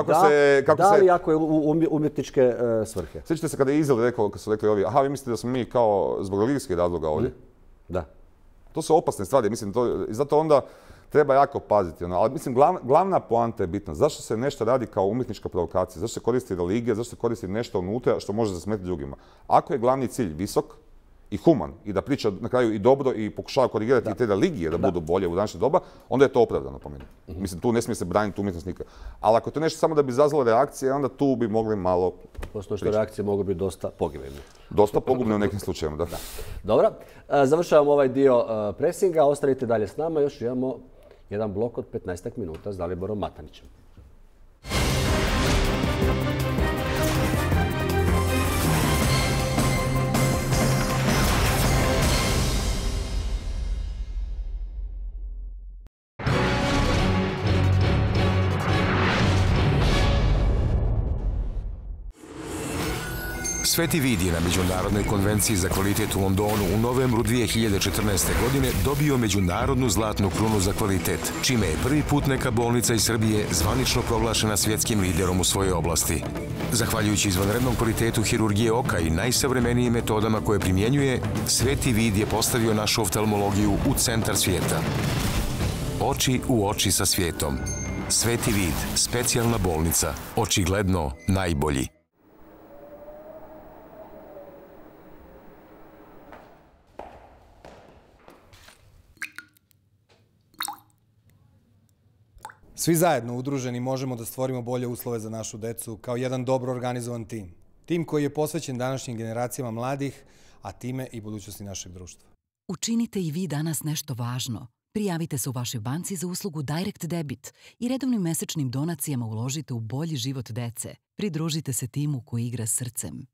da li ako je u umjetničke svrhe? Sjećate se kada je Izrael rekao, kad su rekli ovi, aha, vi mislite da smo mi kao zbog religijskih razloga ovdje? Da. To su opasne stvari, mislim, i zato onda treba jako paziti. Ali mislim, glavna poanta je bitna. Zašto se nešto radi kao umjetnička provokacija? Zašto se koristi religija? Zašto se koristi nešto unutra što može zasmetiti drugima? Ako je glavni cilj visok i human i da priča na kraju i dobro i pokušava korigirati i te religije da budu bolje u današnje doba, onda je to opravdano po meni. Mislim, tu ne smije se braniti umjetnost nikad. Ali ako je to nešto samo da bi izazvalo reakcije, onda tu bi mogli malo... Pošto što reakcije mogu biti dosta pogibene. Dosta pogubne u nekim slučajevima, da. Dobro, završavamo ovaj dio presinga, ostanite dalje s nama, još imamo jedan blok od 15 minuta s Daliborom Matanićem.
Sveti Vid je na Međunarodnoj konvenciji za kvalitet u Londonu u novembru 2014. godine dobio međunarodnu zlatnu krunu za kvalitet, čime je prvi put neka bolnica iz Srbije zvanično proglašena svjetskim liderom u svojoj oblasti. Zahvaljujući izvanrednom kvalitetu hirurgije oka i najsavremenijim metodama koje primjenjuje, Sveti Vid je postavio našu oftalmologiju u centar svijeta. Oči u oči sa svijetom. Sveti Vid, specijalna bolnica, očigledno najbolji.
Svi zajedno udruženi možemo da stvorimo bolje uslove za našu decu kao jedan dobro organizovan tim. Tim koji je posvećen današnjim generacijama mladih, a time i budućnosti našeg društva.
Učinite i vi danas nešto važno. Prijavite se u vašoj banci za uslugu Direct Debit i redovnim mesečnim donacijama uložite u bolji život dece. Pridružite se timu koji igra srcem.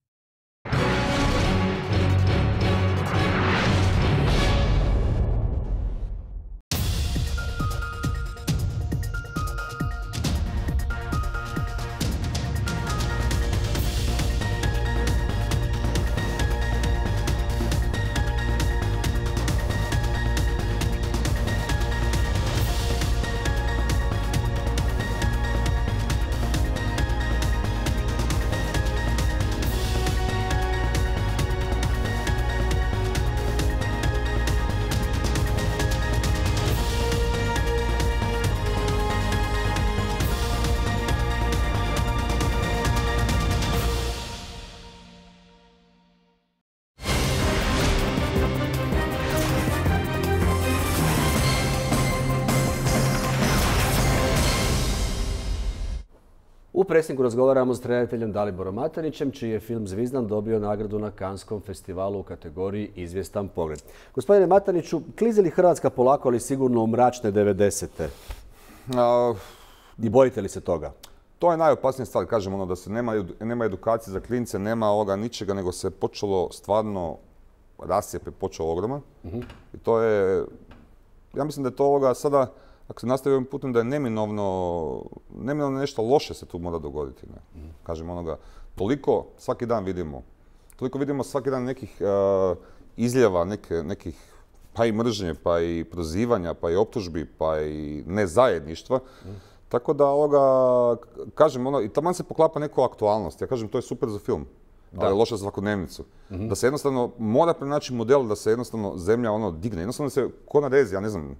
U presingu razgovaramo s redateljem Daliborom Matanićem, čiji je film Zvizdan dobio nagradu na Kanskom festivalu u kategoriji Izvjestan pogled. Gospodine Mataniću, klizi li Hrvatska polako, ali sigurno u mračne 90-te? I bojite li se toga?
To je najopasnija stvar, kažem, ono da se nema edukacije za klince, nema ovoga ničega, nego se počelo stvarno rascijep je počeo ogroman. I to je, ja mislim da je to ovoga sada, ako se nastavi ovim putem, da je neminovno nešto loše se tu mora dogoditi. Kažem onoga, toliko svaki dan vidimo svaki dan nekih izljeva, nekih pa i mržnje, pa i prozivanja, pa i optužbi, pa i nezajedništva. Tako da kažem, i taman se poklapa neku aktualnost. Ja kažem, to je super za film, ali je loše za svakodnevnicu. Da se jednostavno mora pronaći model da se jednostavno zemlja digne. Jednostavno se ko na rezi, ja ne znam,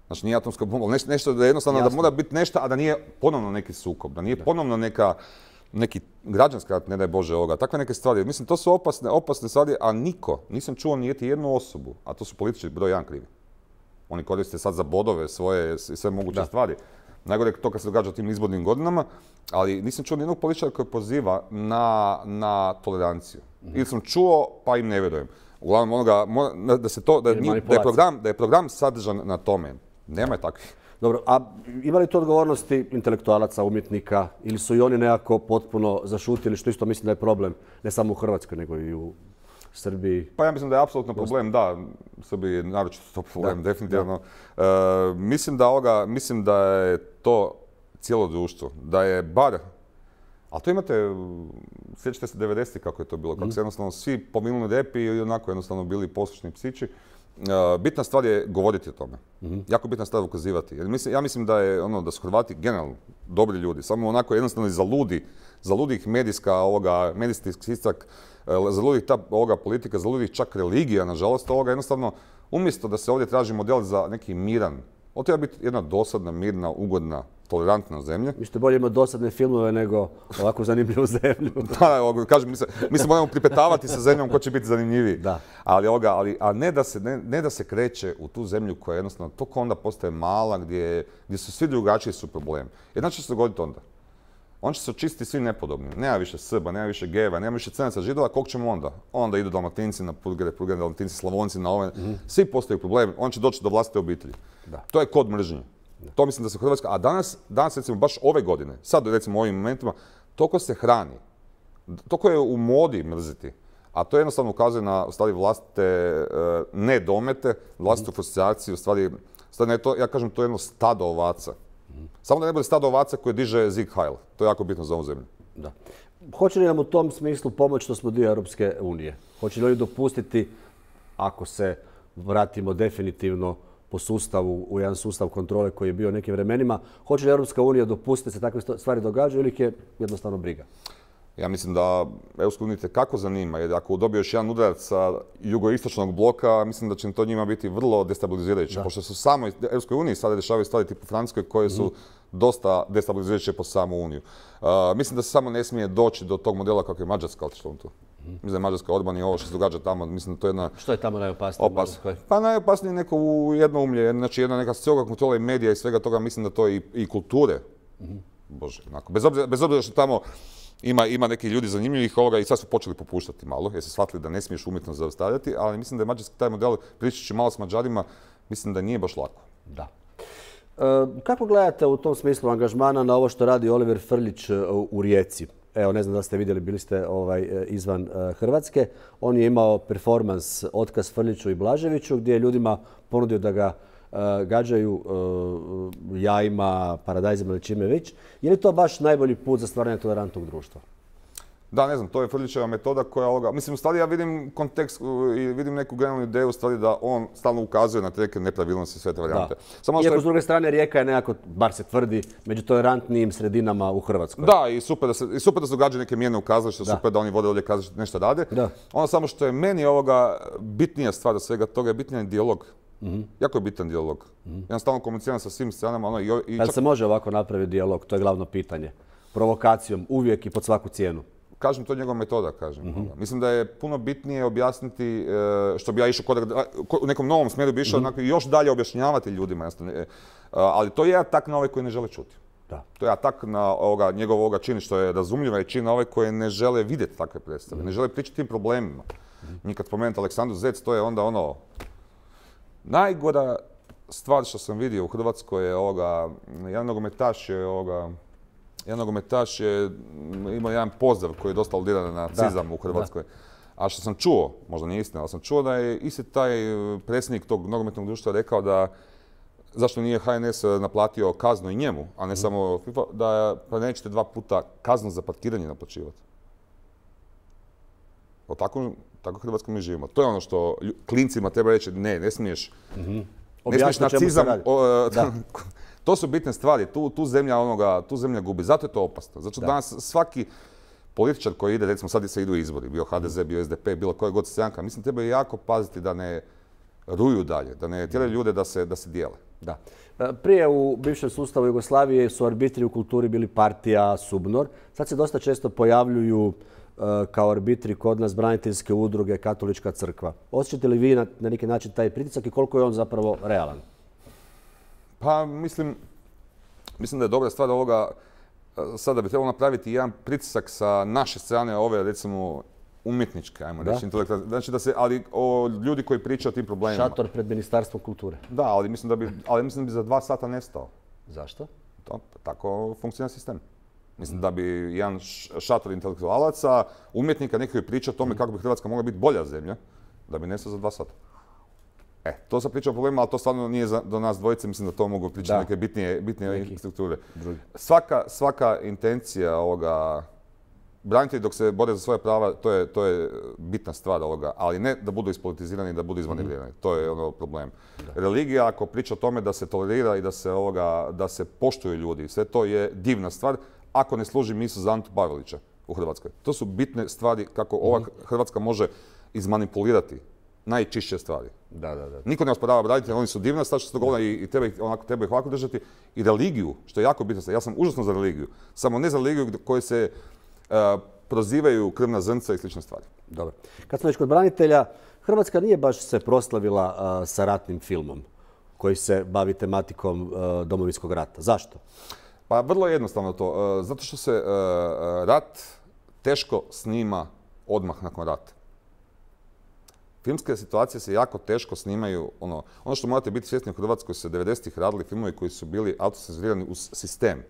znači nije atomska bomba, nešto da jednostavno da mora biti nešto, a da nije ponovno neki sukob, da nije ponovno neki građanski rat, ne daj Bože takve neke stvari. Mislim, to su opasne stvari, a nisam čuo niti jednu osobu, a to su političari broj 1 krivi. Oni koriste sad za bodove svoje i sve moguće stvari. Najgore je to kad se događa u tim izbornim godinama, ali nisam čuo nijednog političara koji poziva na toleranciju. Ili sam čuo, pa im ne vjerujem. Uglavnom da je program sadržan na tome. Nema je takvih.
Dobro, a ima li to odgovornosti intelektualaca, umjetnika, ili su i oni nekako potpuno zašutili, što isto mislim da je problem, ne samo u Hrvatskoj, nego i u Srbiji?
Pa ja mislim da je apsolutno problem, da. U Srbiji je naročito to problem, definitivno. Mislim da je to cijelo društvo, da je bar, ali to imate, sjećate se 90-ih kako je to bilo, kako se jednostavno svi pominuli repi i onako jednostavno bili poslušni psići. Bitna stvar je govoriti o tome. Jako bitna stvar ukazivati. Ja mislim da su Hrvati generalno dobri ljudi, samo onako jednostavno zaludi ih medijski stistak, zaludi ih ta politika, zaludi ih čak religija, nažalost, jednostavno, umjesto da se ovdje traži model za neki miran, ovo treba biti jedna dosadna, mirna, ugodna, tolerantna zemlja.
Vi ste bolje imati dosadne filmove nego ovako zanimljivu zemlju.
Da, kažem, mi se moramo pripetavati sa zemljom ko će biti zanimljiviji. A ne da se kreće u tu zemlju koja jednostavno toliko onda postaje mala, gdje su svi drugačiji su problem. Jedna će se dogoditi onda. On će se očistiti svi nepodobni. Nema više Srba, nema više Gejeva, nema više Crnaca, Židova, kog ćemo onda? Onda idu Dalmatinci na purgere, Dalmatinci, Slavonci na ove. Svi postaju problem, on će doći do vlastite obitelji. To je kod mržnje. To mislim da se Hrvatska, a danas recimo baš ove godine, sad recimo u ovim momentima, toliko se hrani, toliko je u modi mrziti, a to jednostavno ukazuje na stvari vlastite nedomete, vlastitu frustraciju, stvari, ja kažem to je jedno stado ovaca. Samo da ne bude stado ovaca koje diže Sieg Heil, to je jako bitno za ovu zemlju.
Da. Hoće li nam u tom smislu pomoći što smo dio Europske unije? Hoće li oni dopustiti, ako se vratimo definitivno po sustavu, u jedan sustav kontrole koji je bio u nekim vremenima, hoće li Europska unija dopustiti da se takve stvari događaju ili ih je jednostavno briga?
Ja mislim da Europska unija kako zanima, jer ako dobiješ jedan udarac sa jugoistočnog bloka, mislim da će to njima biti vrlo destabilizirajuće. Pošto su samo u Europskoj uniji sada dešavaju stvari tipu Francuskoj koje su dosta destabilizirajuće po samu Uniju. Mislim da se samo ne smije doći do tog modela kako je Mađarska otišla tu. Mislim da je Mađarska Orban i ovo što se događa tamo, mislim da to je jedna...
Što je tamo najopasnije?
Pa najopasnije neko jednoumlje, znači jedna neka stroga kontrola i medija i svega toga, mislim da to je i kulture. Bože, onako. Bez obzira što tamo ima neki ljudi zanimljivih i sad su počeli popuštati malo, jer su shvatili da ne smiješ umjetno zaustavljati, ali mislim da je mađarski taj model, pričajući malo s Mađarima, mislim da nije baš lako.
Da. Kako gledate u tom smislu angažmana na ovo što radi Oliver Frljić u Rijeci? Evo, ne znam da ste vidjeli, bili ste izvan Hrvatske. On je imao performans Otkaz Frljiću i Blaževiću gdje je ljudima ponudio da ga gađaju jajima, paradajzima ili čime već. Je li to baš najbolji put za stvaranje tolerantnog društva?
Da, ne znam, to je Frljićeva metoda koja... Mislim, u stvari ja vidim kontekst i vidim neku generalnu ideju u stvari da on stalno ukazuje na te neke nepravilnosti i sve te varijante.
Iako s druge strane Rijeka je nekako, bar se tvrdi, među tolerantnijim sredinama u Hrvatskoj.
Da, i super da se događaju neke mjerne ukazališta, super da oni vode ovdje kazalište nešto rade. Ono samo što je meni bitnija stvar od svega toga je bitan dijalog. Jako je bitan dijalog. Ja stalno komuniciram sa svim stranama.
Da li se može ovako napraviti dijalog? To je glavno pitanje. Provokacijom, uvijek i pod svaku cijenu.
Kažem, to je njegova metoda, kažem. Mislim da je puno bitnije objasniti, što bi ja išao u nekom novom smjeru bi išao još dalje objašnjavati ljudima. Ali to je tak na ove koji ne žele čuti. To je atak na njegovoga čini što je razumljiva i čina ove koje ne žele vidjeti takve predstave, ne žele pričati tim problemima. Njih kad spomenuti Aleksandru Zec, to je onda ono... Najgora stvar što sam vidio u Hrvatskoj je jedan nogometaš je imao jedan pozdrav koji je dosta aludiran na nacizam u Hrvatskoj. A što sam čuo, možda nije istina, ali sam čuo da je isti taj predsjednik tog nogometnog društva rekao da zašto nije HNS naplatio kaznu i njemu, a ne samo FIFA, da pa nećete 2 puta kaznu za parkiranje naplaćivati. Tako Hrvatsko mi živimo. To je ono što klincima treba reći, ne smiješ. Ne smiješ nacizam. To su bitne stvari, tu zemlja gubi. Zato je to opasno. Zato danas svaki političar koji ide, recimo sad se idu izbori, bio HDZ, bio SDP, bilo koja god stranka, mislim treba jako paziti da ne ruju dalje, da ne tjeraju ljude da se dijele.
Da. Prije u bivšem sustavu Jugoslavije su arbitri u kulturi bili partija, SUBNOR. Sad se dosta često pojavljuju kao arbitri kod nas braniteljske udruge, Katolička crkva. Osjećate li vi na neki način taj pritisak i koliko je on zapravo realan?
Pa mislim da je dobra stvar ovoga, sada bi trebalo napraviti jedan pritisak sa naše strane ove, recimo, umjetničke, ajmo reći, intelektualne. Znači ali ljudi koji pričaju o tim problemima.
Šator pred Ministarstvom kulture.
Da, ali mislim da bi za 2 sata nestao.
Zašto?
Tako funkcionira sistem. Mislim da bi jedan šator intelektualaca, umjetnika, neki koji priča o tome kako bi Hrvatska mogla biti bolja zemlja, da bi nestao za 2 sata. To sam pričao o problemima, ali to stvarno nije do nas dvojice, mislim da to mogu pričati neke bitnije strukture. Svaka intencija branitelji dok se bore za svoje prava, to je bitna stvar ali ne da budu ispolitizirani i da budu izmanevrirani. To je problem. Religija, ako priča o tome da se tolerira i da se poštuju ljudi, sve to je divna stvar, ako ne služi misu za Antu Pavelića u Hrvatskoj. To su bitne stvari kako ova Hrvatska može izmanipulirati najčišće stvari. Niko ne osporava branitelje, oni su divna stvar što se dogodila i treba ih ovako držati. I religiju, što je jako bitno stvar. Ja sam užasno za religiju. Samo ne za religiju koje se prozivaju krvna zrnca i slične stvari.
Dobro. Kad smo već kod branitelja, Hrvatska nije baš se proslavila sa ratnim filmom koji se bavi tematikom Domovinskog rata. Zašto?
Pa vrlo jednostavno to. Zato što se rat teško snima odmah nakon rata. Filmske situacije se jako teško snimaju. Ono što morate biti svjesni u Hrvatskoj su 90-ih radili filmovi koji su bili autocenzurirani uz sistem.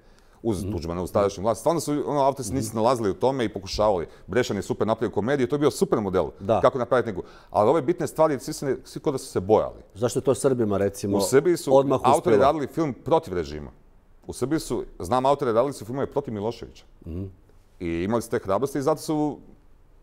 Uz Tuđmana, uz tadašnju vlast. Stvarno su autori se nisu nalazili u tome i pokušavali. Brešan je super napravio komediju, to je bio super model. Kako napraviti neku. Ali ove bitne stvari, svi kod da su se bojali.
Zašto je to Srbima, recimo,
odmah uspjelo? U Srbiji su autori radili film protiv režima. U Srbiji su, znam autori radili su filmove protiv Miloševića. I imali su te hrabrosti i zato su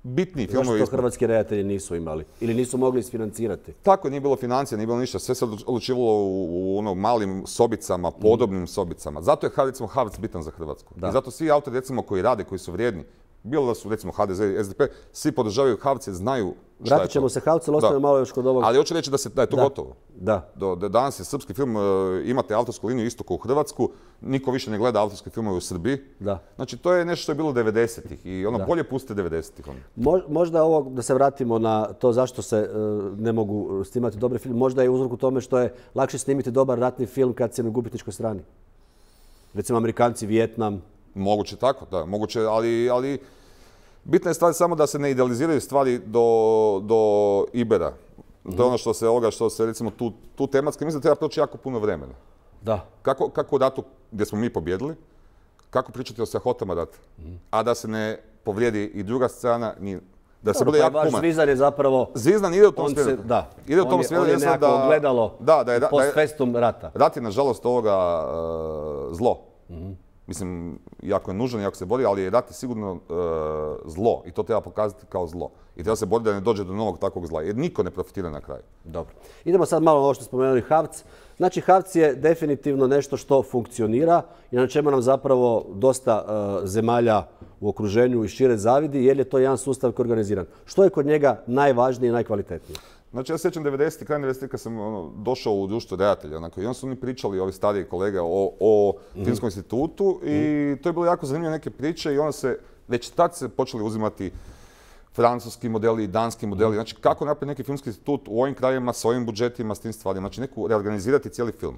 bitni filmovi.
Zašto to hrvatski redatelji nisu imali? Ili nisu mogli isfinancirati?
Tako, nije bilo financija, nije bilo ništa. Sve se odlučivalo u malim sobicama, podobnim sobicama. Zato je, recimo, HAVC bitan za Hrvatsku. I zato svi autori, recimo, koji rade, koji su vrijedni, bilo da su, recimo, HDZ i SDP, svi podržavaju HAVC jer znaju šta je to.
Vratit ćemo se HAVC, ali ostane malo još kod ovog...
Ali hoću reći da je to gotovo. Danas je srpski film, imate autorsku liniju isto kao u Hrvatsku, niko više ne gleda autorske filmove u Srbiji. Znači, to je nešto što je bilo 90-ih i bolje pustite 90-ih.
Možda ovo, da se vratimo na to zašto se ne mogu snimati dobri film, možda je uzrok u tome što je lakše snimiti dobar ratni film kad si na gubitničkoj strani. Recimo, Amerikanci, Vijetnam.
Moguće tako, da, moguće, ali bitna je stvar samo da se ne idealiziraju stvari do Ibera. To je ono što se recimo tu tematski, mislim da treba proći jako puno vremena. Kako u ratu gdje smo mi pobjedili, kako pričati o strahotama rata, a da se ne povrijedi i druga strana, da se bude jako human.
Zvizdan je zapravo...
Zvizdan ide u tom smjeru.
Ide u tom smjeru. On je nekako ogledalo post festum rata.
Rat je nažalost zlo. Mislim, jako je nužan, jako se bori, ali rat je sigurno zlo i to treba pokazati kao zlo. I treba se boriti da ne dođe do novog takvog zla, jer niko ne profitira na kraju.
Dobro. Idemo sad malo na ovo što spomenuli HAVC. Znači, HAVC je definitivno nešto što funkcionira i na čemu nam zapravo dosta zemalja u okruženju i šire zavidi, jer je to jedan sustav koji je organiziran. Što je kod njega najvažnije i najkvalitetnije?
Znači, ja se sjećam 90. kraj 90. kad sam došao u društvo redatelja, i onda su oni pričali, ovi stariji kolege, o Filmskom institutu i to je bilo jako zanimljivo neke priče i onda se, već tad se počeli uzimati francuski modeli i danski modeli. Znači, kako napraviti neki filmski institut u ovim krajevima, s ovim budžetima, s tim stvarima. Znači, reorganizirati cijeli film.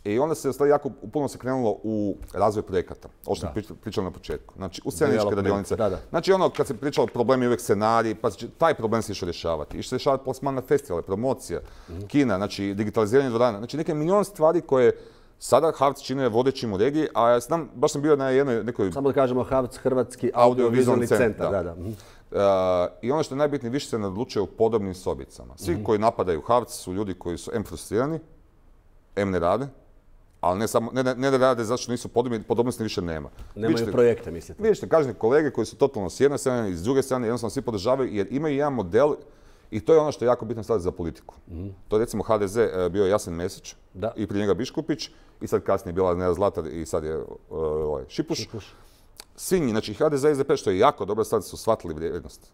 I onda se stvari jako puno se krenulo u razvoj projekata. Ovo što sam pričao na početku. Znači, u sceničke radionice. Znači, ono, kad se pričalo problemi uvijek scenarij, pa taj problem se išao rješavati. Išao rješavati plasman na festivale, promocija, kina, znači, digitaliziranje dvorana. Znači, neke milion stvari koje sada HAVC čine vodećim u regiji, a ja znam, baš sam bio na jednoj nekoj...
Samo da kažemo HAVC, Hrvatski audiovizualni centar.
I ono što je najbitnije, više se ne odlučuje u podobnim sobicama. Svi koji napadaju HAVC su ljudi koji su frustrirani, ne rade, ali ne da rade zato što nisu podobni, podobnosti više nema.
Nemaju projekte, mislite?
Vidite, kažem kolege koji su totalno s jedne strane i s druge strane jednostavno svi podržavaju jer imaju jedan model i to je ono što je jako bitno staviti za politiku. To je recimo HDZ bio Jasen Mesić i prije njega Biškupić i sad kasnije bila Neda Zlatar i sad je Šipuš. Svi, znači HDZ i SDP, što je jako dobro, sad su shvatili vrijednost.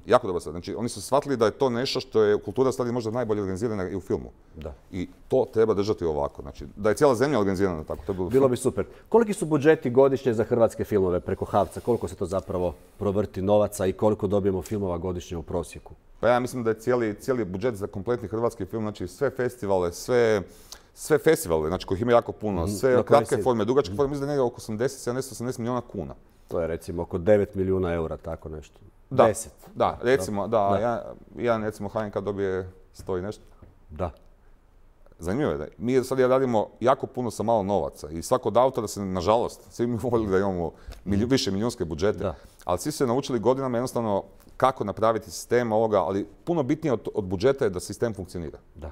Jako dobro sad. Znači, oni su shvatili da je to nešto što je kultura stvari možda najbolje organizirana i u filmu. I to treba držati ovako. Znači, da je cijela zemlja organizirana tako. To
bilo bi super. Koliki su budžeti godišnje za hrvatske filmove preko HAVC-a? Koliko se to zapravo provrti novaca i koliko dobijemo filmova godišnje u prosjeku?
Pa ja mislim da je cijeli budžet za kompletni hrvatski film, znači sve festivale, sve festivale, znači kojih ima jako puno, sve kratke forme, dugačke forme, mislim da je negdje oko 80 milijuna kuna.
To je recimo oko 9 milijuna eura, tako nešto.
Da,
10.
Da, recimo, jedan recimo HNK dobije 100 i nešto.
Da.
Zanimljivo je da mi sad radimo jako puno sa malo novaca i svako od autora se, nažalost, svi mi voljeli da imamo više milijunske budžete, ali svi su se naučili godinama jednostavno kako napraviti sistem ovoga, ali puno bitnije od budžeta je da sistem funkcionira. Da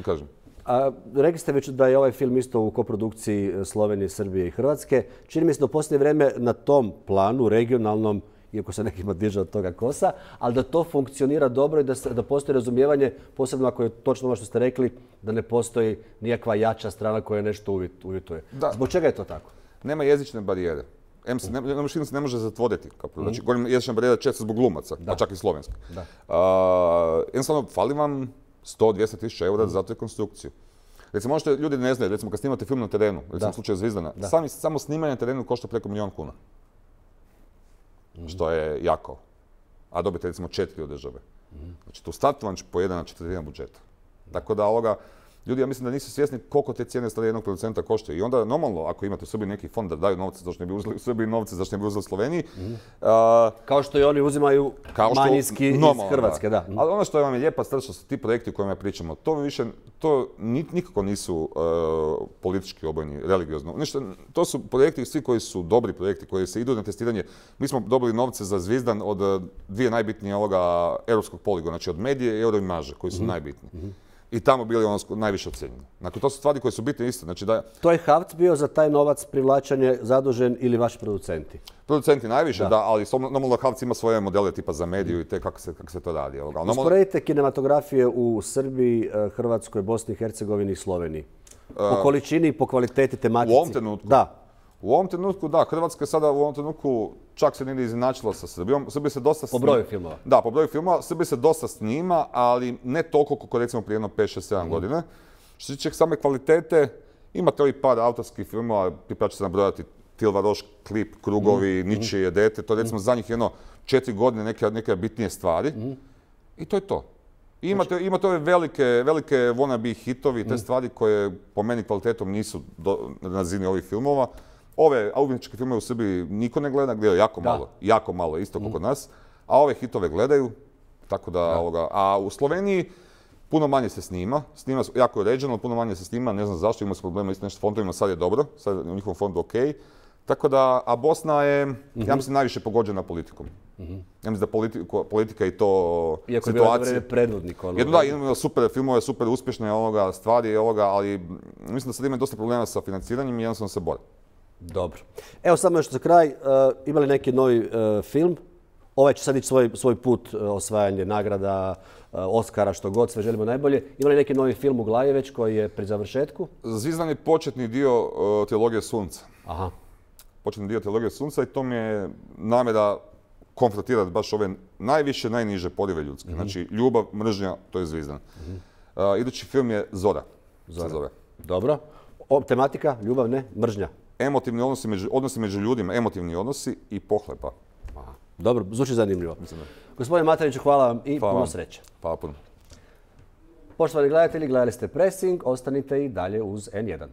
kažem.
A rekli ste već da je ovaj film isto u koprodukciji Slovenije, Srbije i Hrvatske. Čini mi se da u posljednje vrijeme na tom planu, regionalnom, iako se nekima diže od toga kosa, ali da to funkcionira dobro i da postoji razumijevanje, posebno ako je točno ovo što ste rekli, da ne postoji nijakva jača strana koja nešto uvjetuje. Zbog čega je to tako?
Nema jezične barijere. Film se ne može zatvoriti. Znači, govorim jezična barijera često zbog glumaca, pa čak i slovenska. Jednostavno, fali vam 100-200 tisuća eura za tu konstrukciju. Recimo, ono što ljudi ne znaju, recimo kad snimate film na terenu, recimo u slučaju Zvizdana, samo snimanje na terenu košta preko 1 milijun kuna. Što je jako. A dobite recimo 4 od države. Znači tu startovan pojede na 1/4 budžeta. Tako da ljudi, ja mislim da nisu svjesni koliko te cijene stvari jednog producenta koštaju. I onda normalno, ako imate u Srbiji neki fond da daju novce, zašto ne bi uzeli u Srbiji novce, zašto ne bi uzeli u Sloveniji.
Kao što i oni uzimaju manjinski iz Hrvatske, da.
Ali ono što vam je lijepa stvar, što su ti projekti o kojima pričamo, to nikako nisu politički obojeni, religiozno. To su projekti, svi koji su dobri projekti, koji se idu na testiranje. Mi smo dobili novce za Zvizdan od dvije najbitnije europskog poligona, znači od Medije i Euroimaže, koji su najbitniji. I tamo bili najviše ocjenjeni. Dakle, to su stvari koje su bitne isto. Znači
to je HAVC bio za taj novac privlačenje zadužen ili vaši producenti?
Producenti najviše, da, ali normalno HAVC ima svoje modele tipa za mediju i te kako se to radi.
Usporedite kinematografije u Srbiji, Hrvatskoj, Bosni i Hercegovini i Sloveniji. Po količini i po kvaliteti tematici.
U ovom trenutku?
Da.
U ovom trenutku, da. Hrvatska je sada u ovom trenutku čak se negdje izjednačila sa Srbijom. Srbija se dosta
snima. Po broju filmova?
Da, po broju filmova. Srbija se dosta snima, ali ne toliko koliko recimo prije jedno 5, 6, 7 godine. Što se tiče same kvalitete, imate ovih par autorskih filmova, pa ću se nabrojati Tilva Roš, Klip, Krugovi, Ničije dete. To je recimo zadnjih 4 godine neke bitnije stvari. I to je to. Imate ove velike wannabe hitovi, te stvari koje po meni kvalitetom nisu na razini ovih filmova. Ove umjetničke filmove u Srbiji niko ne gleda, gledaju jako malo, isto kao kod nas, a ove hitove gledaju, tako da, a u Sloveniji puno manje se snima jako je uređeno, puno manje se snima, ne znam zašto, imamo se problema isto nešto s fondovima, sad je dobro, sad je u njihovom fondu ok, tako da, a Bosna je, ja mislim, najviše pogođena politikom. Ja mislim da politika i to situacija...
Iako je bilo vreme predvodnik.
Da, imamo super filmove, super uspješne stvari, ali mislim da sad ima dosta problema sa financiranjem i jednostavno se bore.
Dobro. Evo samo još za kraj, imali neki novi film? Ovaj će sad ići svoj put, osvajanje nagrada, Oskara, što god, sve želimo najbolje. Imali neki novi film u glavi već koji je pri završetku?
Zvizdan je početni dio Trilogije Sunca.
Aha.
Početni dio Trilogije Sunca i to mi je namjera konfrontirati baš ove najviše, najniže porive ljudske. Znači, ljubav, mržnja, to je Zvizdan. Idući film je Zora.
Dobro. Tematika, ljubav, ne, mržnja.
Emotivni odnosi među ljudima, emotivni odnosi i pohlepa.
Dobro, zvuči zanimljivo. Gospodine Mataniću, hvala vam i puno sreće.
Hvala puno.
Poštovani gledatelji, gledali ste Pressing, ostanite i dalje uz N1.